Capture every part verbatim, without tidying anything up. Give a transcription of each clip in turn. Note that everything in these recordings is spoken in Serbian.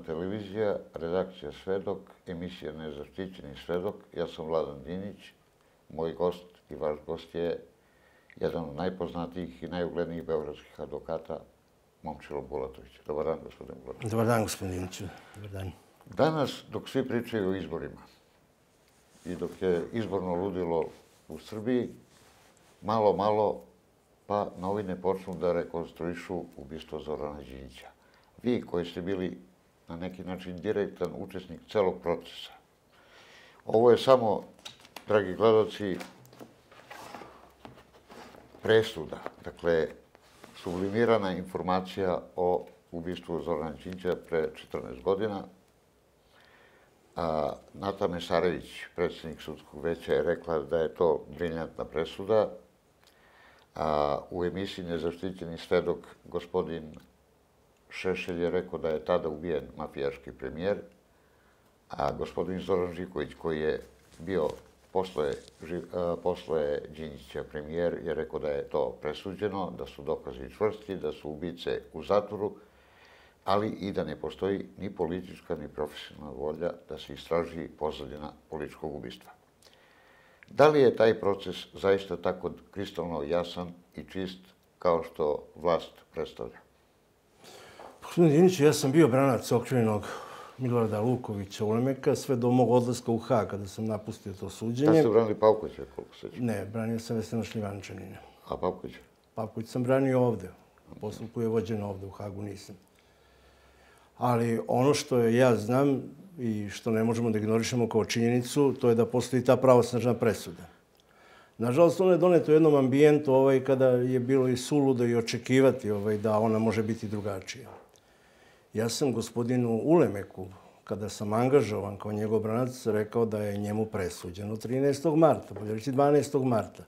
televizija, redakcija Svedok, emisija Nezaštićeni svedok. Ja sam Vladan Dinić. Moj gost i vaš gost je jedan od najpoznatijih i najuglednijih beogradskih advokata, Momčilo Bulatović. Dobar dan, gospodin Bulatović. Dobar dan, gospodin Diniću. Dobar dan. Danas, dok svi pričaju o izborima i dok je izborno ludilo u Srbiji, malo, malo, pa novine počnu da rekonstruišu ubistvo Zorana Đinđića. Vi koji ste bili na neki način direktan učesnik celog procesa. Ovo je samo, dragi gledalci, presuda. Dakle, sublimirana informacija o ubistvu Zorana Đinđića pre četrnaest godina. Nata Mesarević, predsjednik sudskog veća, je rekla da je to briljantna presuda. U emisiji Nezaštićeni svedok gospodin Šešelj je rekao da je tada ubijen mafijaški premijer, a gospodin Zoran Živković, koji je bio posle Đinđića premijer, je rekao da je to presuđeno, da su dokazi čvrsti, da su ubice u zatvoru, ali i da ne postoji ni politička ni profesionalna volja da se istraži pozadina političkog ubistva. Da li je taj proces zaista tako kristalno jasan i čist kao što vlast predstavlja? Gospodin Dinić, ja sam bio branac okrivljenog Milorada Lukovića Ulemeka sve do mog odlaska u Hag, kada sam napustio to suđenje. Kada ste branili Pavkovića, koliko se će? Ne, branio sam Vesna Šljivančanina. A Pavkovića? Pavković sam branio ovde. Postupku je vođen ovde, u Hagu nisam. Ali ono što ja znam i što ne možemo da ignorišemo kao činjenicu, to je da postoji ta pravosnažna presuda. Nažalost, ona je doneta u jednom ambijentu kada je bilo i suludo i očekivati da ona može biti drugačija. Ja sam gospodinu Ulemeku, kada sam angažovan kao njegov branac, rekao da je njemu presuđeno trinaestog marta, bolje reći dvanaestog marta.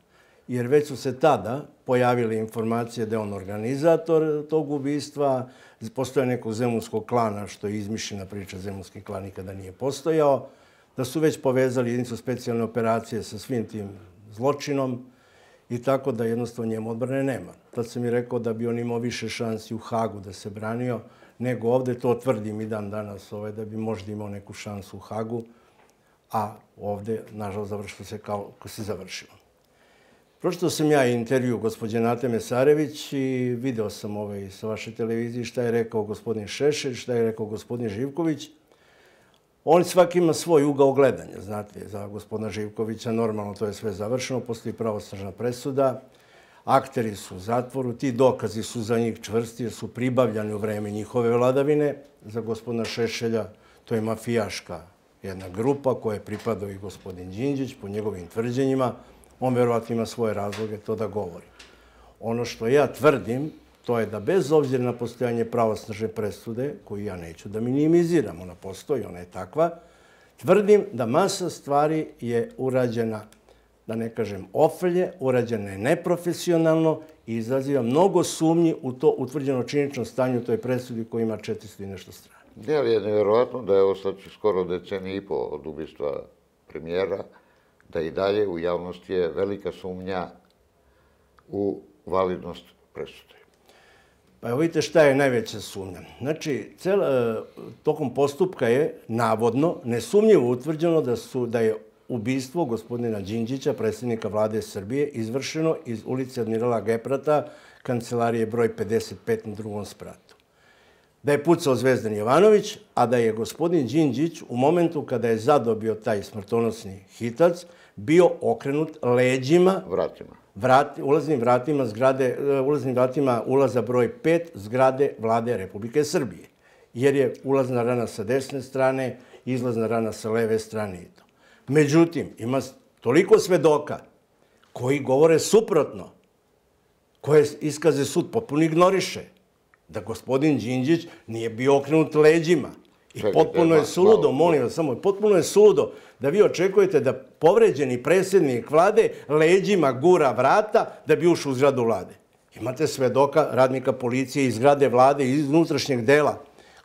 Jer već su se tada pojavile informacije da je on organizator tog ubistva, postoje nekog zemunskog klana, što je izmišljena priča, zemunski klan nikada nije postojao, da su već povezali jedinicu specijalne operacije sa svim tim zločinom i tako da jednostavno njemu odbrane nema. Tad sam mi rekao da bi on imao više šansi u Hagu da se branio, nego ovde, to tvrdim i dan danas, da bi možda imao neku šansu u Hagu, a ovde, nažalost, završilo se kao se završilo. Pročitao sam ja intervju gospođe Nate Mesarević i video sam sa vaše televizije šta je rekao gospodin Šešelj, šta je rekao gospodin Živković. On svaki ima svoj ugao gledanja, znate, za gospodina Živkovića normalno to je sve završeno, postoji pravosnažna presuda, akteri su u zatvoru, ti dokazi su za njih čvrsti jer su pribavljani u vreme njihove vladavine. Za gospodina Šešelja to je mafijaška jedna grupa koje pripadao i gospodin Đinđić po njegovim tvrđenjima. On verovatno ima svoje razloge to da govori. Ono što ja tvrdim, to je da bez obzira na postojanje pravosnažne presude, koju ja neću da minimiziram, ona postoji, ona je takva, tvrdim da masa stvari je urađena, da ne kažem ofrlje, urađena je neprofesionalno i izaziva mnogo sumnji u to utvrđeno činjenično stanje u toj presudi koja ima četiristo i nešto strana. Je li je nevjerovatno da je ovo sad skoro decenije i po od ubistva premijera, da i dalje u javnosti je velika sumnja u validnost presude? Pa evo vidite šta je najveća sumnja. Znači, tokom postupka je navodno, nesumnjivo utvrđeno da je ubistvo gospodina Đinđića, predsjednika vlade Srbije, izvršeno iz ulice Admirala Geprata, kancelarije broj pedeset pet na drugom spratu. Da je pucao Zvezdan Jovanović, a da je gospodin Đinđić u momentu kada je zadobio taj smrtonosni hitac, bio okrenut leđima, ulaznim vratima zgrade, ulaznim vratima ulaza broj pet zgrade vlade Republike Srbije. Jer je ulazna rana sa desne strane, izlazna rana sa leve strane i to. Međutim, ima toliko svedoka koji govore suprotno, koje iskaze sud potpuno ignoriše, da gospodin Đinđić nije bio okrenut leđima. I potpuno je suludo, molim vas samo, potpuno je suludo da vi očekujete da povređeni predsjednik vlade leđima gura vrata da bi ušao u zgradu vlade. Imate svedoka radnika policije iz zgrade vlade, iz unutrašnjeg dela,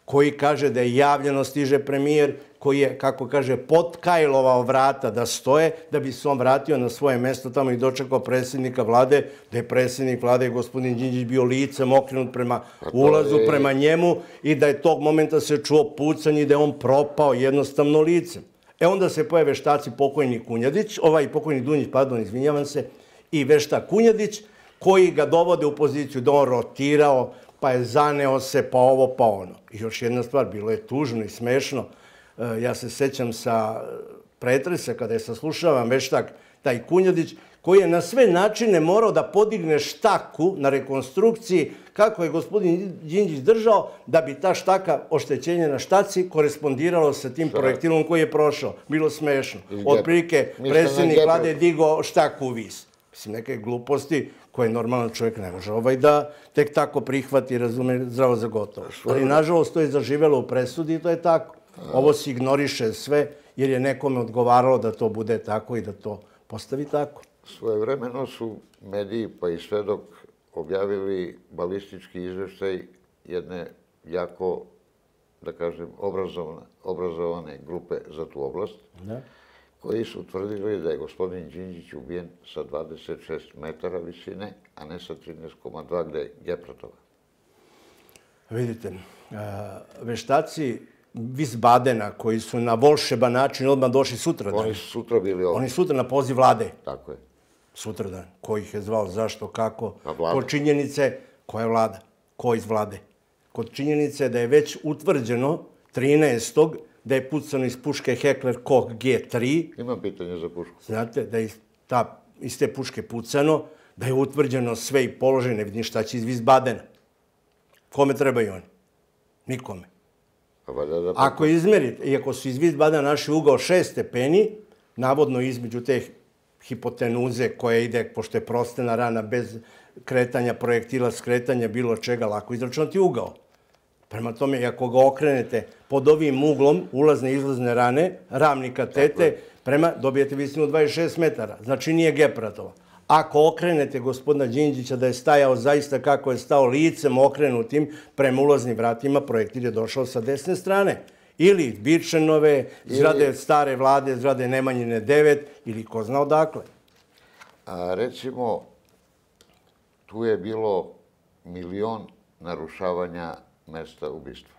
koji kaže da je javljeno stiže premijer, koji je, kako kaže, potkajlovao vrata da stoje, da bi se on vratio na svoje mesto tamo i dočekao predsjednika vlade, da je predsjednik vlade, gospodin Đinđić, bio licem okrenut prema ulazu, prema njemu i da je tog momenta se čuo pucanje i da je on propao jednostavno licem. E onda se pojave veštaci pokojni Kunjadić, ovaj pokojni Dunjić, pardon, izvinjavam se, i veštak Kunjadić, koji ga dovode u poziciju da on rotirao, pa je zaneo se, pa ovo, pa ono. I još jedna stvar, bilo je tužno i smešno. Ja se sećam sa pretresa, kada je saslušavan veštak taj Kunjadić, koji je na sve načine morao da podigne štaku na rekonstrukciji, kako je gospodin Đinđić držao, da bi ta štaka, oštećenje na štaci, korespondiralo sa tim projektilom koji je prošao. Bilo smešno. Otprilike, predsjednik vlade je digao štaku u vis. Mislim, neke gluposti koje normalan čovjek ne može ovaj da tek tako prihvati i razume zdravo za gotovo. Ali, nažalost, to je zaživelo u presudi i to je tako. Ovo se ignoriše sve jer je nekome odgovaralo da to bude tako i da to postavi tako. Svojevremeno su mediji, pa i Svedok, objavili balistički izveštaj jedne jako, da kažem, obrazovane grupe za tu oblast, koji su utvrdili da je gospodin Đinđić ubijen sa dvadeset šest metara visine, a ne sa trinaest zarez dva gde je Gepratova. Vidite, veštaci Wiesbadena, koji su na volšeban način odmah došli sutradan. Oni su sutra bili ovdje. Oni sutra na poziv vlade. Tako je. Sutradan. Ko ih je zvao, zašto, kako? Kod činjenice, koja je vlada? Ko iz vlade? Kod činjenice da je već utvrđeno trinaestog da je pucano iz puške Heckler Koch G tri. Imam pitanje za pušku. Znate, da je iz te puške pucano, da je utvrđeno sve i položaj, ne vidim šta će iz Wiesbadena. Kome trebaju oni? Nikome. Ako izmerite, i ako su iz Wiesbadena našli ugao šest stepeni, navodno između te hipotenuze koja ide, pošto je prostena rana, bez kretanja projektila, skretanja, bilo čega, lako izračunati ugao. Prema tome, ako ga okrenete pod ovim uglom ulazne i izlazne rane, ravnika tete, prema dobijete visinu dvadeset šest metara. Znači nije Gepratova. Ako okrenete gospodina Đinđića da je stajao zaista kako je stao licem okrenutim prema ulaznim vratima, projektil je došao sa desne strane. Ili Birčenove, zgrade stare vlade, zgrade Nemanjine devet, ili ko zna odakle. Recimo, tu je bilo milion narušavanja mesta ubistva.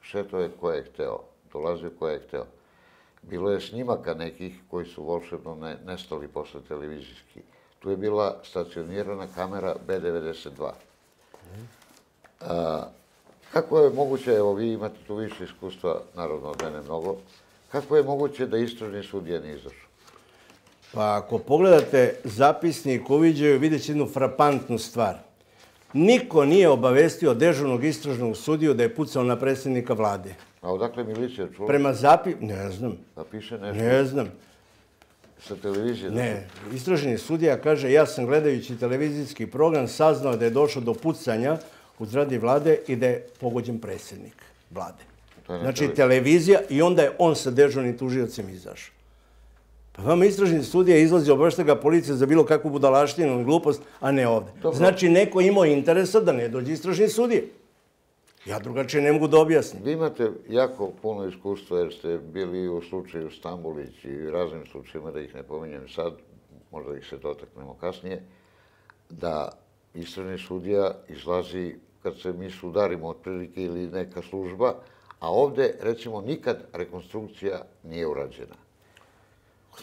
Šeto je ko je hteo, dolazio ko je hteo. Bilo je snimaka nekih koji su volšebno nestali posle televizijski. Tu je bila stacionirana kamera B devedeset dva. Kako je moguće, evo vi imate tu više iskustva, naravno od mene mnogo, kako je moguće da istražni sudija nije izašao? Pa ako pogledate zapisnik uviđaju, vidjet će jednu frapantnu stvar. Niko nije obavestio dežurnog istražnog sudiju da je pucao na predsjednika vlade. A odakle milicija čula? Prema zapis... Ne znam. Da piše nešto? Ne znam. Sa televizije? Ne. Istražni sudija kaže, ja sam gledajući televizijski program saznao da je došlo do pucanja u zgradi vlade i da je pogođen predsjednik vlade. Znači televizija i onda je on sa dežurnim tužiocem izašao. Pa vama istražni sudija izlazi, obavešta ga policija za bilo kakvu budalaštinu i glupost, a ne ovde. Znači neko imao interesa da ne dođe istražni sudije. Ja drugačije ne mogu da objasnim. Vi imate jako puno iskustva jer ste bili u slučaju Stambolić i raznim slučajima, da ih ne pominjem sad, možda ih se dotaknemo kasnije, da istražni sudija izlazi kad se mi sudarimo otprilike ili neka služba, a ovde, recimo, nikad rekonstrukcija nije urađena.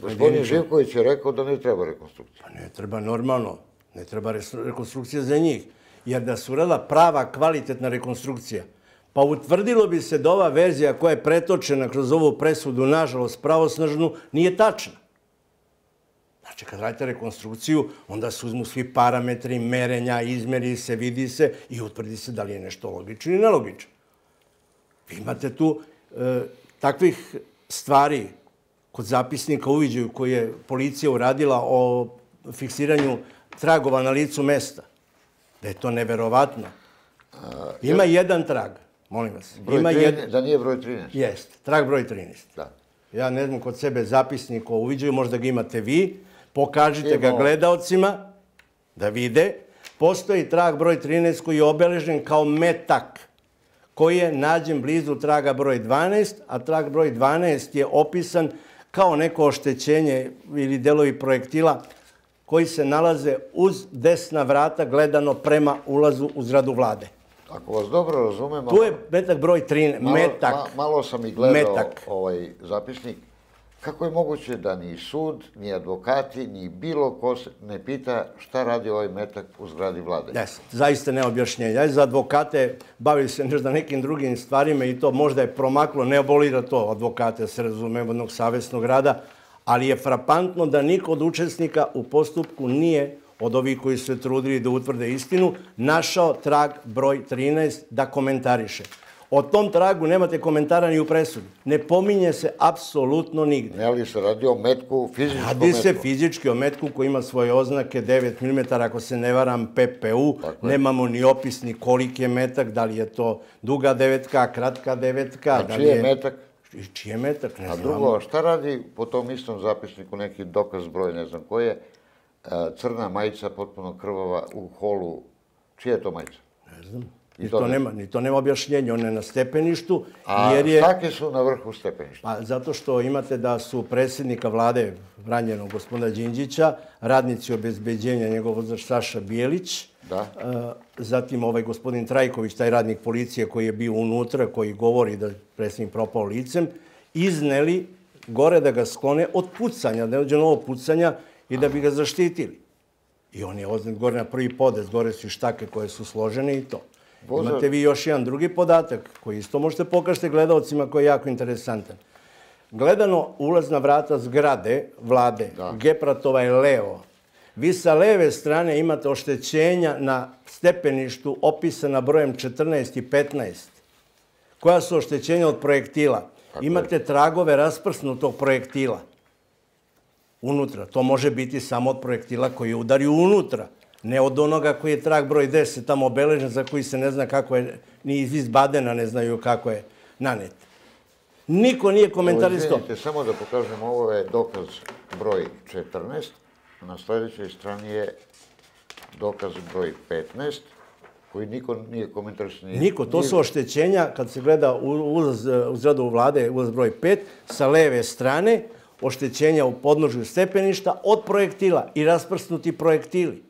Gospodin Živković je rekao da ne treba rekonstrukcija. Pa ne treba normalno. Ne treba rekonstrukcija za njih. Jer da su uradila prava, kvalitetna rekonstrukcija, pa utvrdilo bi se da ova verzija koja je pretočena kroz ovu presudu, nažalost, pravosnažnu, nije tačna. Znači, kad radite rekonstrukciju, onda se uzmu svi parametri, merenja, izmeri se, vidi se i utvrdi se da li je nešto logično ili nelogično. Vi imate tu takvih stvari kod zapisnika uviđaju koje je policija uradila o fiksiranju tragova na licu mesta. Da je to neverovatno. Ima jedan trag, molim vas. Da nije broj trinaest? Jest, trag broj trinaest. Ja ne znam kod sebe zapisnik o uviđaju, možda ga imate vi, pokažite ga gledaocima da vide. Postoji trag broj trinaest koji je obeležen kao metak, koji je nađen blizu traga broj dvanaest, a trag broj dvanaest je opisan kao neko oštećenje ili delovi projektila koji se nalaze uz desna vrata gledano prema ulazu u zgradu vlade. Ako vas dobro razumem... Tu je metak broj trinaest, metak. Malo sam i gledao ovaj zapisnik. Kako je moguće da ni sud, ni advokati, ni bilo ko se ne pita šta radi ovaj metak u zgradi vlade? Jes, zaista ne objašnjenja. Za advokate bavili se možda nekim drugim stvarima i to možda je promaklo, ne abolira to advokate, se razume, jednog savesnog rada, ali je frapantno da niko od učesnika u postupku nije, od ovih koji su se trudili da utvrde istinu, našao trag broj trinaest da komentariše. O tom tragu nemate komentara ni u presudi. Ne pominje se apsolutno nigde. Ne li se radi o metku, fizičkom metku? Radi se fizički o metku koji ima svoje oznake, devet milimetara, ako se ne varam, P P U. Nemamo ni opis ni koliki je metak, da li je to duga devetka, kratka devetka. A čiji je metak? Čiji je metak, ne znamo. znamo. A drugo, šta radi po tom istom zapisniku, neki dokaz broj, ne znam koji je, crna majica potpuno krvava u holu? Čija je to majica? Ne znam. Ni to nema objašnjenja, on je na stepeništu. A štake su na vrhu stepeništa? Zato što imate da su predsjednika vlade ranjenog gospodina Đinđića, radnici obezbeđenja njegov vozač Saša Bijelić, zatim ovaj gospodin Trajković, taj radnik policije koji je bio unutra, koji govori da je predsjednik propao licem, izneli gore da ga sklone od pucanja, da je dođe novo pucanja i da bi ga zaštitili. I on je oznet gore na prvi podest, gore su i štake koje su složene i to. Imate vi još jedan drugi podatak koji isto možete pokažete gledalcima koji je jako interesantan. Gledano ulazna vrata zgrade vlade, Gepratova je levo. Vi sa leve strane imate oštećenja na stepeništu opisana brojem četrnaest i petnaest. Koja su oštećenja od projektila? Imate tragove rasprsnutog projektila unutra. To može biti samo od projektila koji je udario unutra. Ne od onoga koji je trag broj deset tamo obeležen, za koji se ne zna kako je, ni iz Badena ne znaju kako je nanet. Niko nije komentarisao. Izvinite, samo da pokažem, ovo je dokaz broj četrnaest, na sljedećoj strani je dokaz broj petnaest, koji niko nije komentarisao. Niko, to su oštećenja, kad se gleda ulaz u zgradu vlade, ulaz broj pet, sa leve strane, oštećenja u podnožju stepeništa od projektila i rasprsnuti projektili.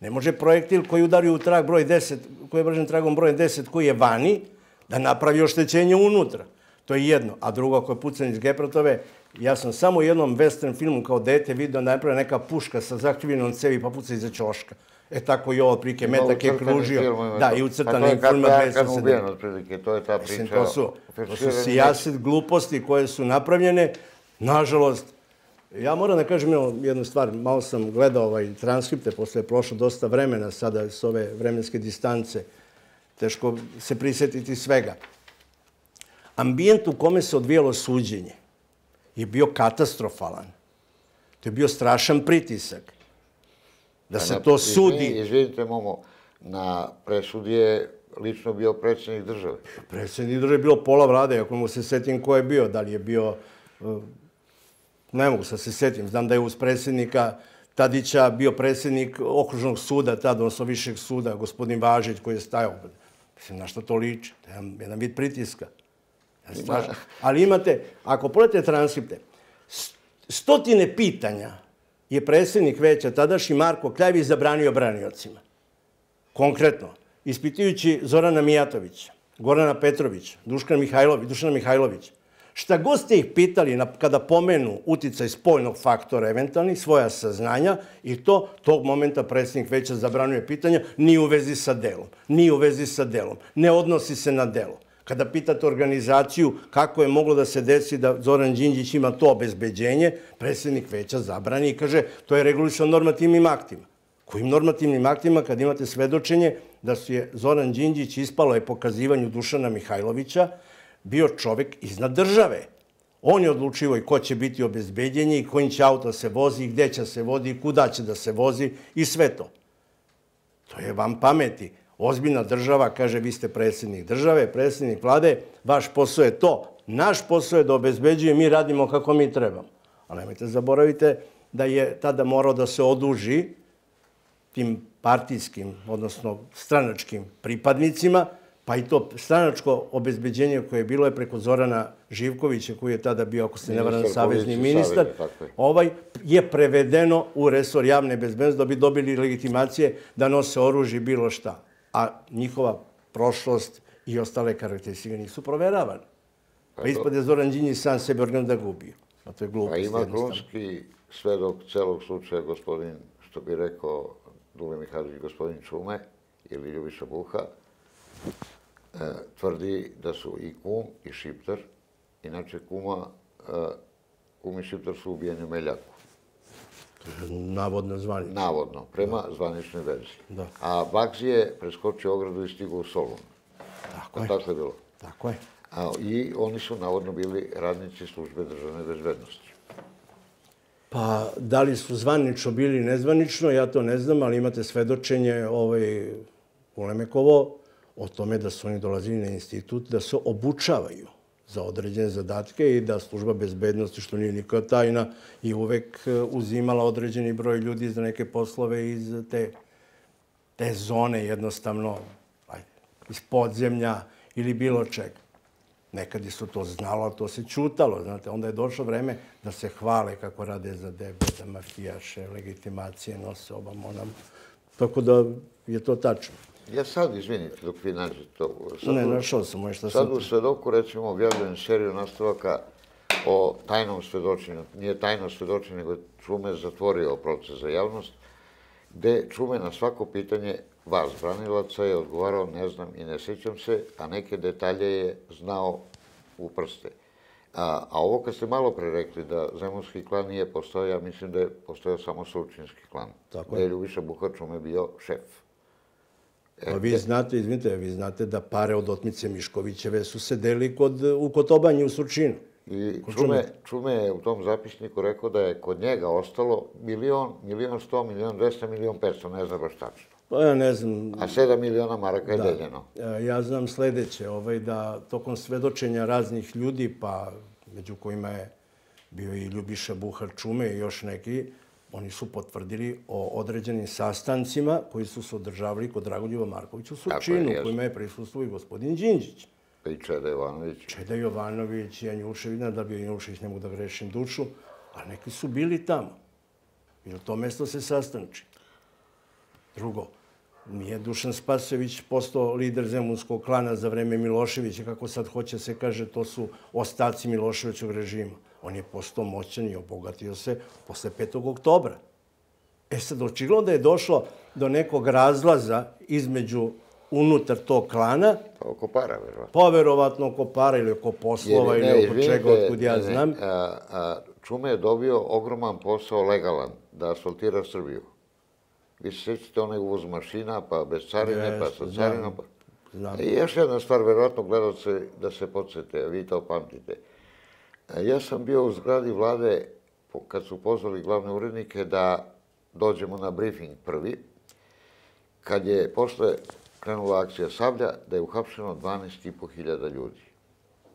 Ne može projektil koji udario u trag broj deset, koji je vražen tragom brojem deset, koji je vani, da napravi oštećenje unutra. To je jedno. A drugo, ako je pucan iz Gepratove, ja sam samo u jednom western filmu kao dete vidio da je napravila neka puška sa zakrivljenom cevi pa puca iza ćoška. E tako i ovo, otprilike, metak je kružio. Da, i ucrtanim filmima dve hiljade sedam. Otprilike, to je ta priča. To su sijaset gluposti koje su napravljene. Nažalost, ja moram da kažem jednu stvar, malo sam gledao ovaj transkripte, posle je prošlo dosta vremena sada s ove vremenske distance, teško se prisjetiti svega. Ambijent u kome se odvijalo suđenje je bio katastrofalan. To je bio strašan pritisak. Da se to sudi... Izvinite, Momo, na presudi je lično bio predsjednik države. Predsjednik države je bilo pola vlade, ako mu se setim ko je bio, da li je bio... Ne mogu sad se setim, znam da je uz predsjednika Tadića bio predsjednik okružnog suda, tada, odnosno višeg suda, gospodin Važić koji je stajao. Mislim, na što to liči? To je jedan vid pritiska. Ali imate, ako pogledate transkripte, stotine pitanja je predsjednik veća tadašnji Marko Kljavić zabranio braniocima. Konkretno, ispitujući Zorana Mijatovića, Gorana Petrovića, Dušana Mihajlovića, šta god ste ih pitali kada pomenu uticaj spoljnog faktora eventualnih, svoja saznanja, i to tog momenta predsjednik veća zabranjuje pitanja, ni u vezi sa delom, ni u vezi sa delom, ne odnosi se na delo. Kada pitate organizaciju kako je moglo da se desi da Zoran Đinđić ima to obezbeđenje, predsjednik veća zabrani i kaže to je regulisano normativnim aktima. Kojim normativnim aktima kad imate svedočenje da su je Zoran Đinđić ispalo je pokazivanju Dušana Mihajlovića bio čovjek iznad države. On je odlučivo i ko će biti obezbeđenje i kojim će auto se vozi, gdje će se vozi i kuda će da se vozi i sve to. To je vam pameti. Ozbiljna država kaže vi ste predsjednik države, predsjednik vlade, vaš posao je to. Naš posao je da obezbeđuje, mi radimo kako mi trebamo. Ali nemojte zaboravite da je tada morao da se oduži tim partijskim, odnosno stranačkim pripadnicima, pa Pa i to stranačko obezbeđenje koje je bilo je preko Zorana Živkovića, koji je tada bio, ako se ne varam, savezni ministar, ovaj je prevedeno u resor javne bezbednosti da bi dobili legitimacije da nose oružje i bilo šta. A njihova prošlost i ostale karakteristike nisu proveravane. Pa ispod je Zoran Đinđić sam sebe organ da gubio. A to je glupost jednostavno. Pa ima krunski svedok celog slučaja, gospodin, što bi rekao Dule Mihajlović, gospodin Čume ili Ljubiša Buha, tvrdi da su i kum i šiptar, inače kuma, kum i šiptar su ubijeni u Meljaku. Navodno zvanično. Navodno, prema zvaničnoj verziji. A Bagzi je preskočio ogradu i stigao u Solun. Tako je. Tako je bilo. Tako je. I oni su navodno bili radnici službe državne bezbednosti. Pa, da li su zvanično bili nezvanično, ja to ne znam, ali imate svedočenje u Lemekovo o tome da su oni dolazili na institut da se obučavaju za određene zadatke i da služba bezbednosti, što nije nikada tajna, i uvek uzimala određeni broj ljudi za neke poslove iz te zone, jednostavno, iz podzemlja ili bilo čega. Nekad su to znalo, ali to se ćutalo. Znate, onda je došlo vreme da se hvale kako rade za debe, da mafijaše, legitimacije nose obam onam. Tako da je to tačno. Ja sad, izvinite, dok vi nađete to... Ne, našao sam možda sad. Sad u Svedoku, recimo, objavljujem seriju nastavaka o tajnom svedočenju. Nije tajno svedočenje, nego Čume zatvorio proces za javnost, gde Čume na svako pitanje vas, branilaca, je odgovarao ne znam i ne sjećam se, a neke detalje je znao u prste. A ovo kad ste malo pre rekli da Zemunski klan nije postojao, ja mislim da je postojao samo Surčinski klan. Gde je Ljubiša Buha Čume bio šef. Pa vi znate, izvinite, vi znate da pare od otmice Miškovićeve su se deli u Kotobanji u Surčinu. I Čume je u tom zapisniku rekao da je kod njega ostalo milion, milion sto, milion dvesta, milion petsto, ne znam baš tačno. Pa ja ne znam... A sedam miliona maraka je deljeno. Ja znam sledeće, da tokom svedočenja raznih ljudi, pa među kojima je bio i Ljubiša Buha Čume i još neki, oni su potvrdili o određenim sastancima koji su se održavali kod Dragoljuba Markovića u Surčinu, kojima je prisustuo i gospodin Đinđić. I Čeda Jovanović. Čeda Jovanović i Janjušević, da bi Janjušević ne mogu da grešim dušu, a neki su bili tamo. I na to mesto se sastanči. Drugo, nije Dušan Spasojević postao lider Zemunskog klana za vreme Miloševića, kako sad hoće se kaže, to su ostaci Miloševićog režima. On je postao moćan i obogatio se posle petog oktobra. E sad, očigledno da je došlo do nekog razlaza između unutar tog klana. Pa oko para, verovatno. Pa verovatno oko para ili oko poslova ili oko čega, otkud ja znam. Čume je dobio ogroman posao legalan da asfaltira Srbiju. Vi se sjećate onaj uvoz mašina, pa bez carine, pa sa carinom. I još jedna stvar, verovatno gledalce da se podsjete, vi to pamtite. Ja sam bio u zgradi vlade kad su pozvali glavne urednike da dođemo na briefing prvi, kad je posle krenula akcija Sablja, da je uhapšeno dvanaest i po hiljada ljudi.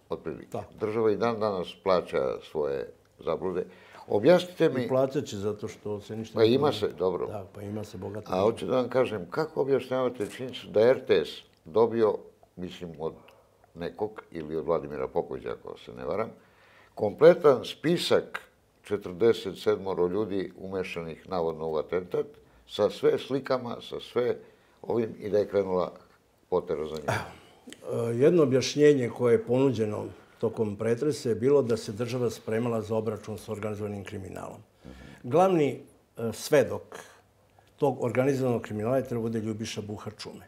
Otprilike. Država i dan danas plaća svoje zablude. Objasnite mi... I plaćat će zato što se ništa... Pa ima se, dobro. Da, pa ima se bogato. A hoću da vam kažem, kako objašnjavate činjenicu da je R T S dobio, mislim, od nekog ili od Vladimira Popovića, ako se ne varam, kompletan spisak četrdeset sedam ljudi umešanih navodno u atentat, sa sve slikama, sa sve ovim, i da je krenula potera za njim. Jedno objašnjenje koje je ponuđeno tokom pretresa je bilo da se država spremala za obračun s organizovanim kriminalom. Glavni svedok tog organizovanog kriminala je treba bude Ljubiša Buha Čume,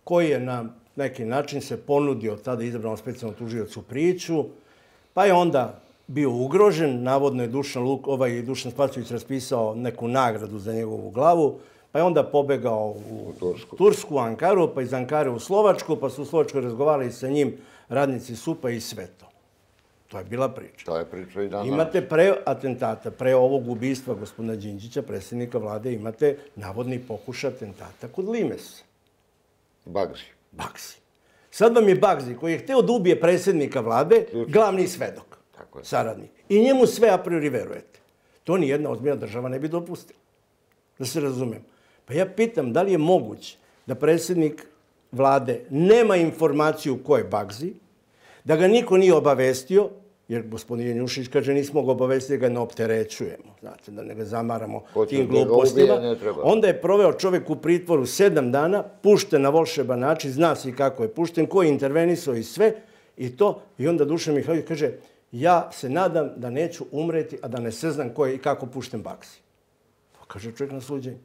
koji je na neki način se ponudio tada izabranom specijalnom tužiocu Prijiću, pa je onda bio ugrožen. Navodno je Dušan Spasojević raspisao neku nagradu za njegovu glavu, pa je onda pobegao u Tursku, u Ankaru, pa iz Ankare u Slovačku, pa su u Slovačkoj razgovarali sa njim radnici S U P-a i sve to. To je bila priča. To je priča i danas. Imate pre atentata, pre ovog ubistva gospodina Đinđića, predsjednika vlade, imate navodni pokušaj atentata kod Limesa. Bagzi. Bagzi. Sad vam je Bagzi, koji je hteo da ubije predsjednika vlade, glavni svedok, saradnik. I njemu sve a priori verujete. To nijedna ozbiljna država ne bi dopustila. Da se razumemo. Pa ja pitam, da li je moguće da predsjednik vlade nema informaciju ko je Bagzi, da ga niko nije obavestio, jer gospodin Janjušić kaže nismo ga obavestili, ga ne opterećujemo, znate, da ne ga zamaramo tim glupostima. Onda je proveo čovek u pritvoru sedam dana, pušten na volšeban način, zna se i kako je pušten, ko je intervenisao i sve, i to, i onda Dušan Mihajlović kaže, ja se nadam da neću umreti, a da ne saznam ko je i kako pušten Bagzi. To kaže čovjek na suđenju.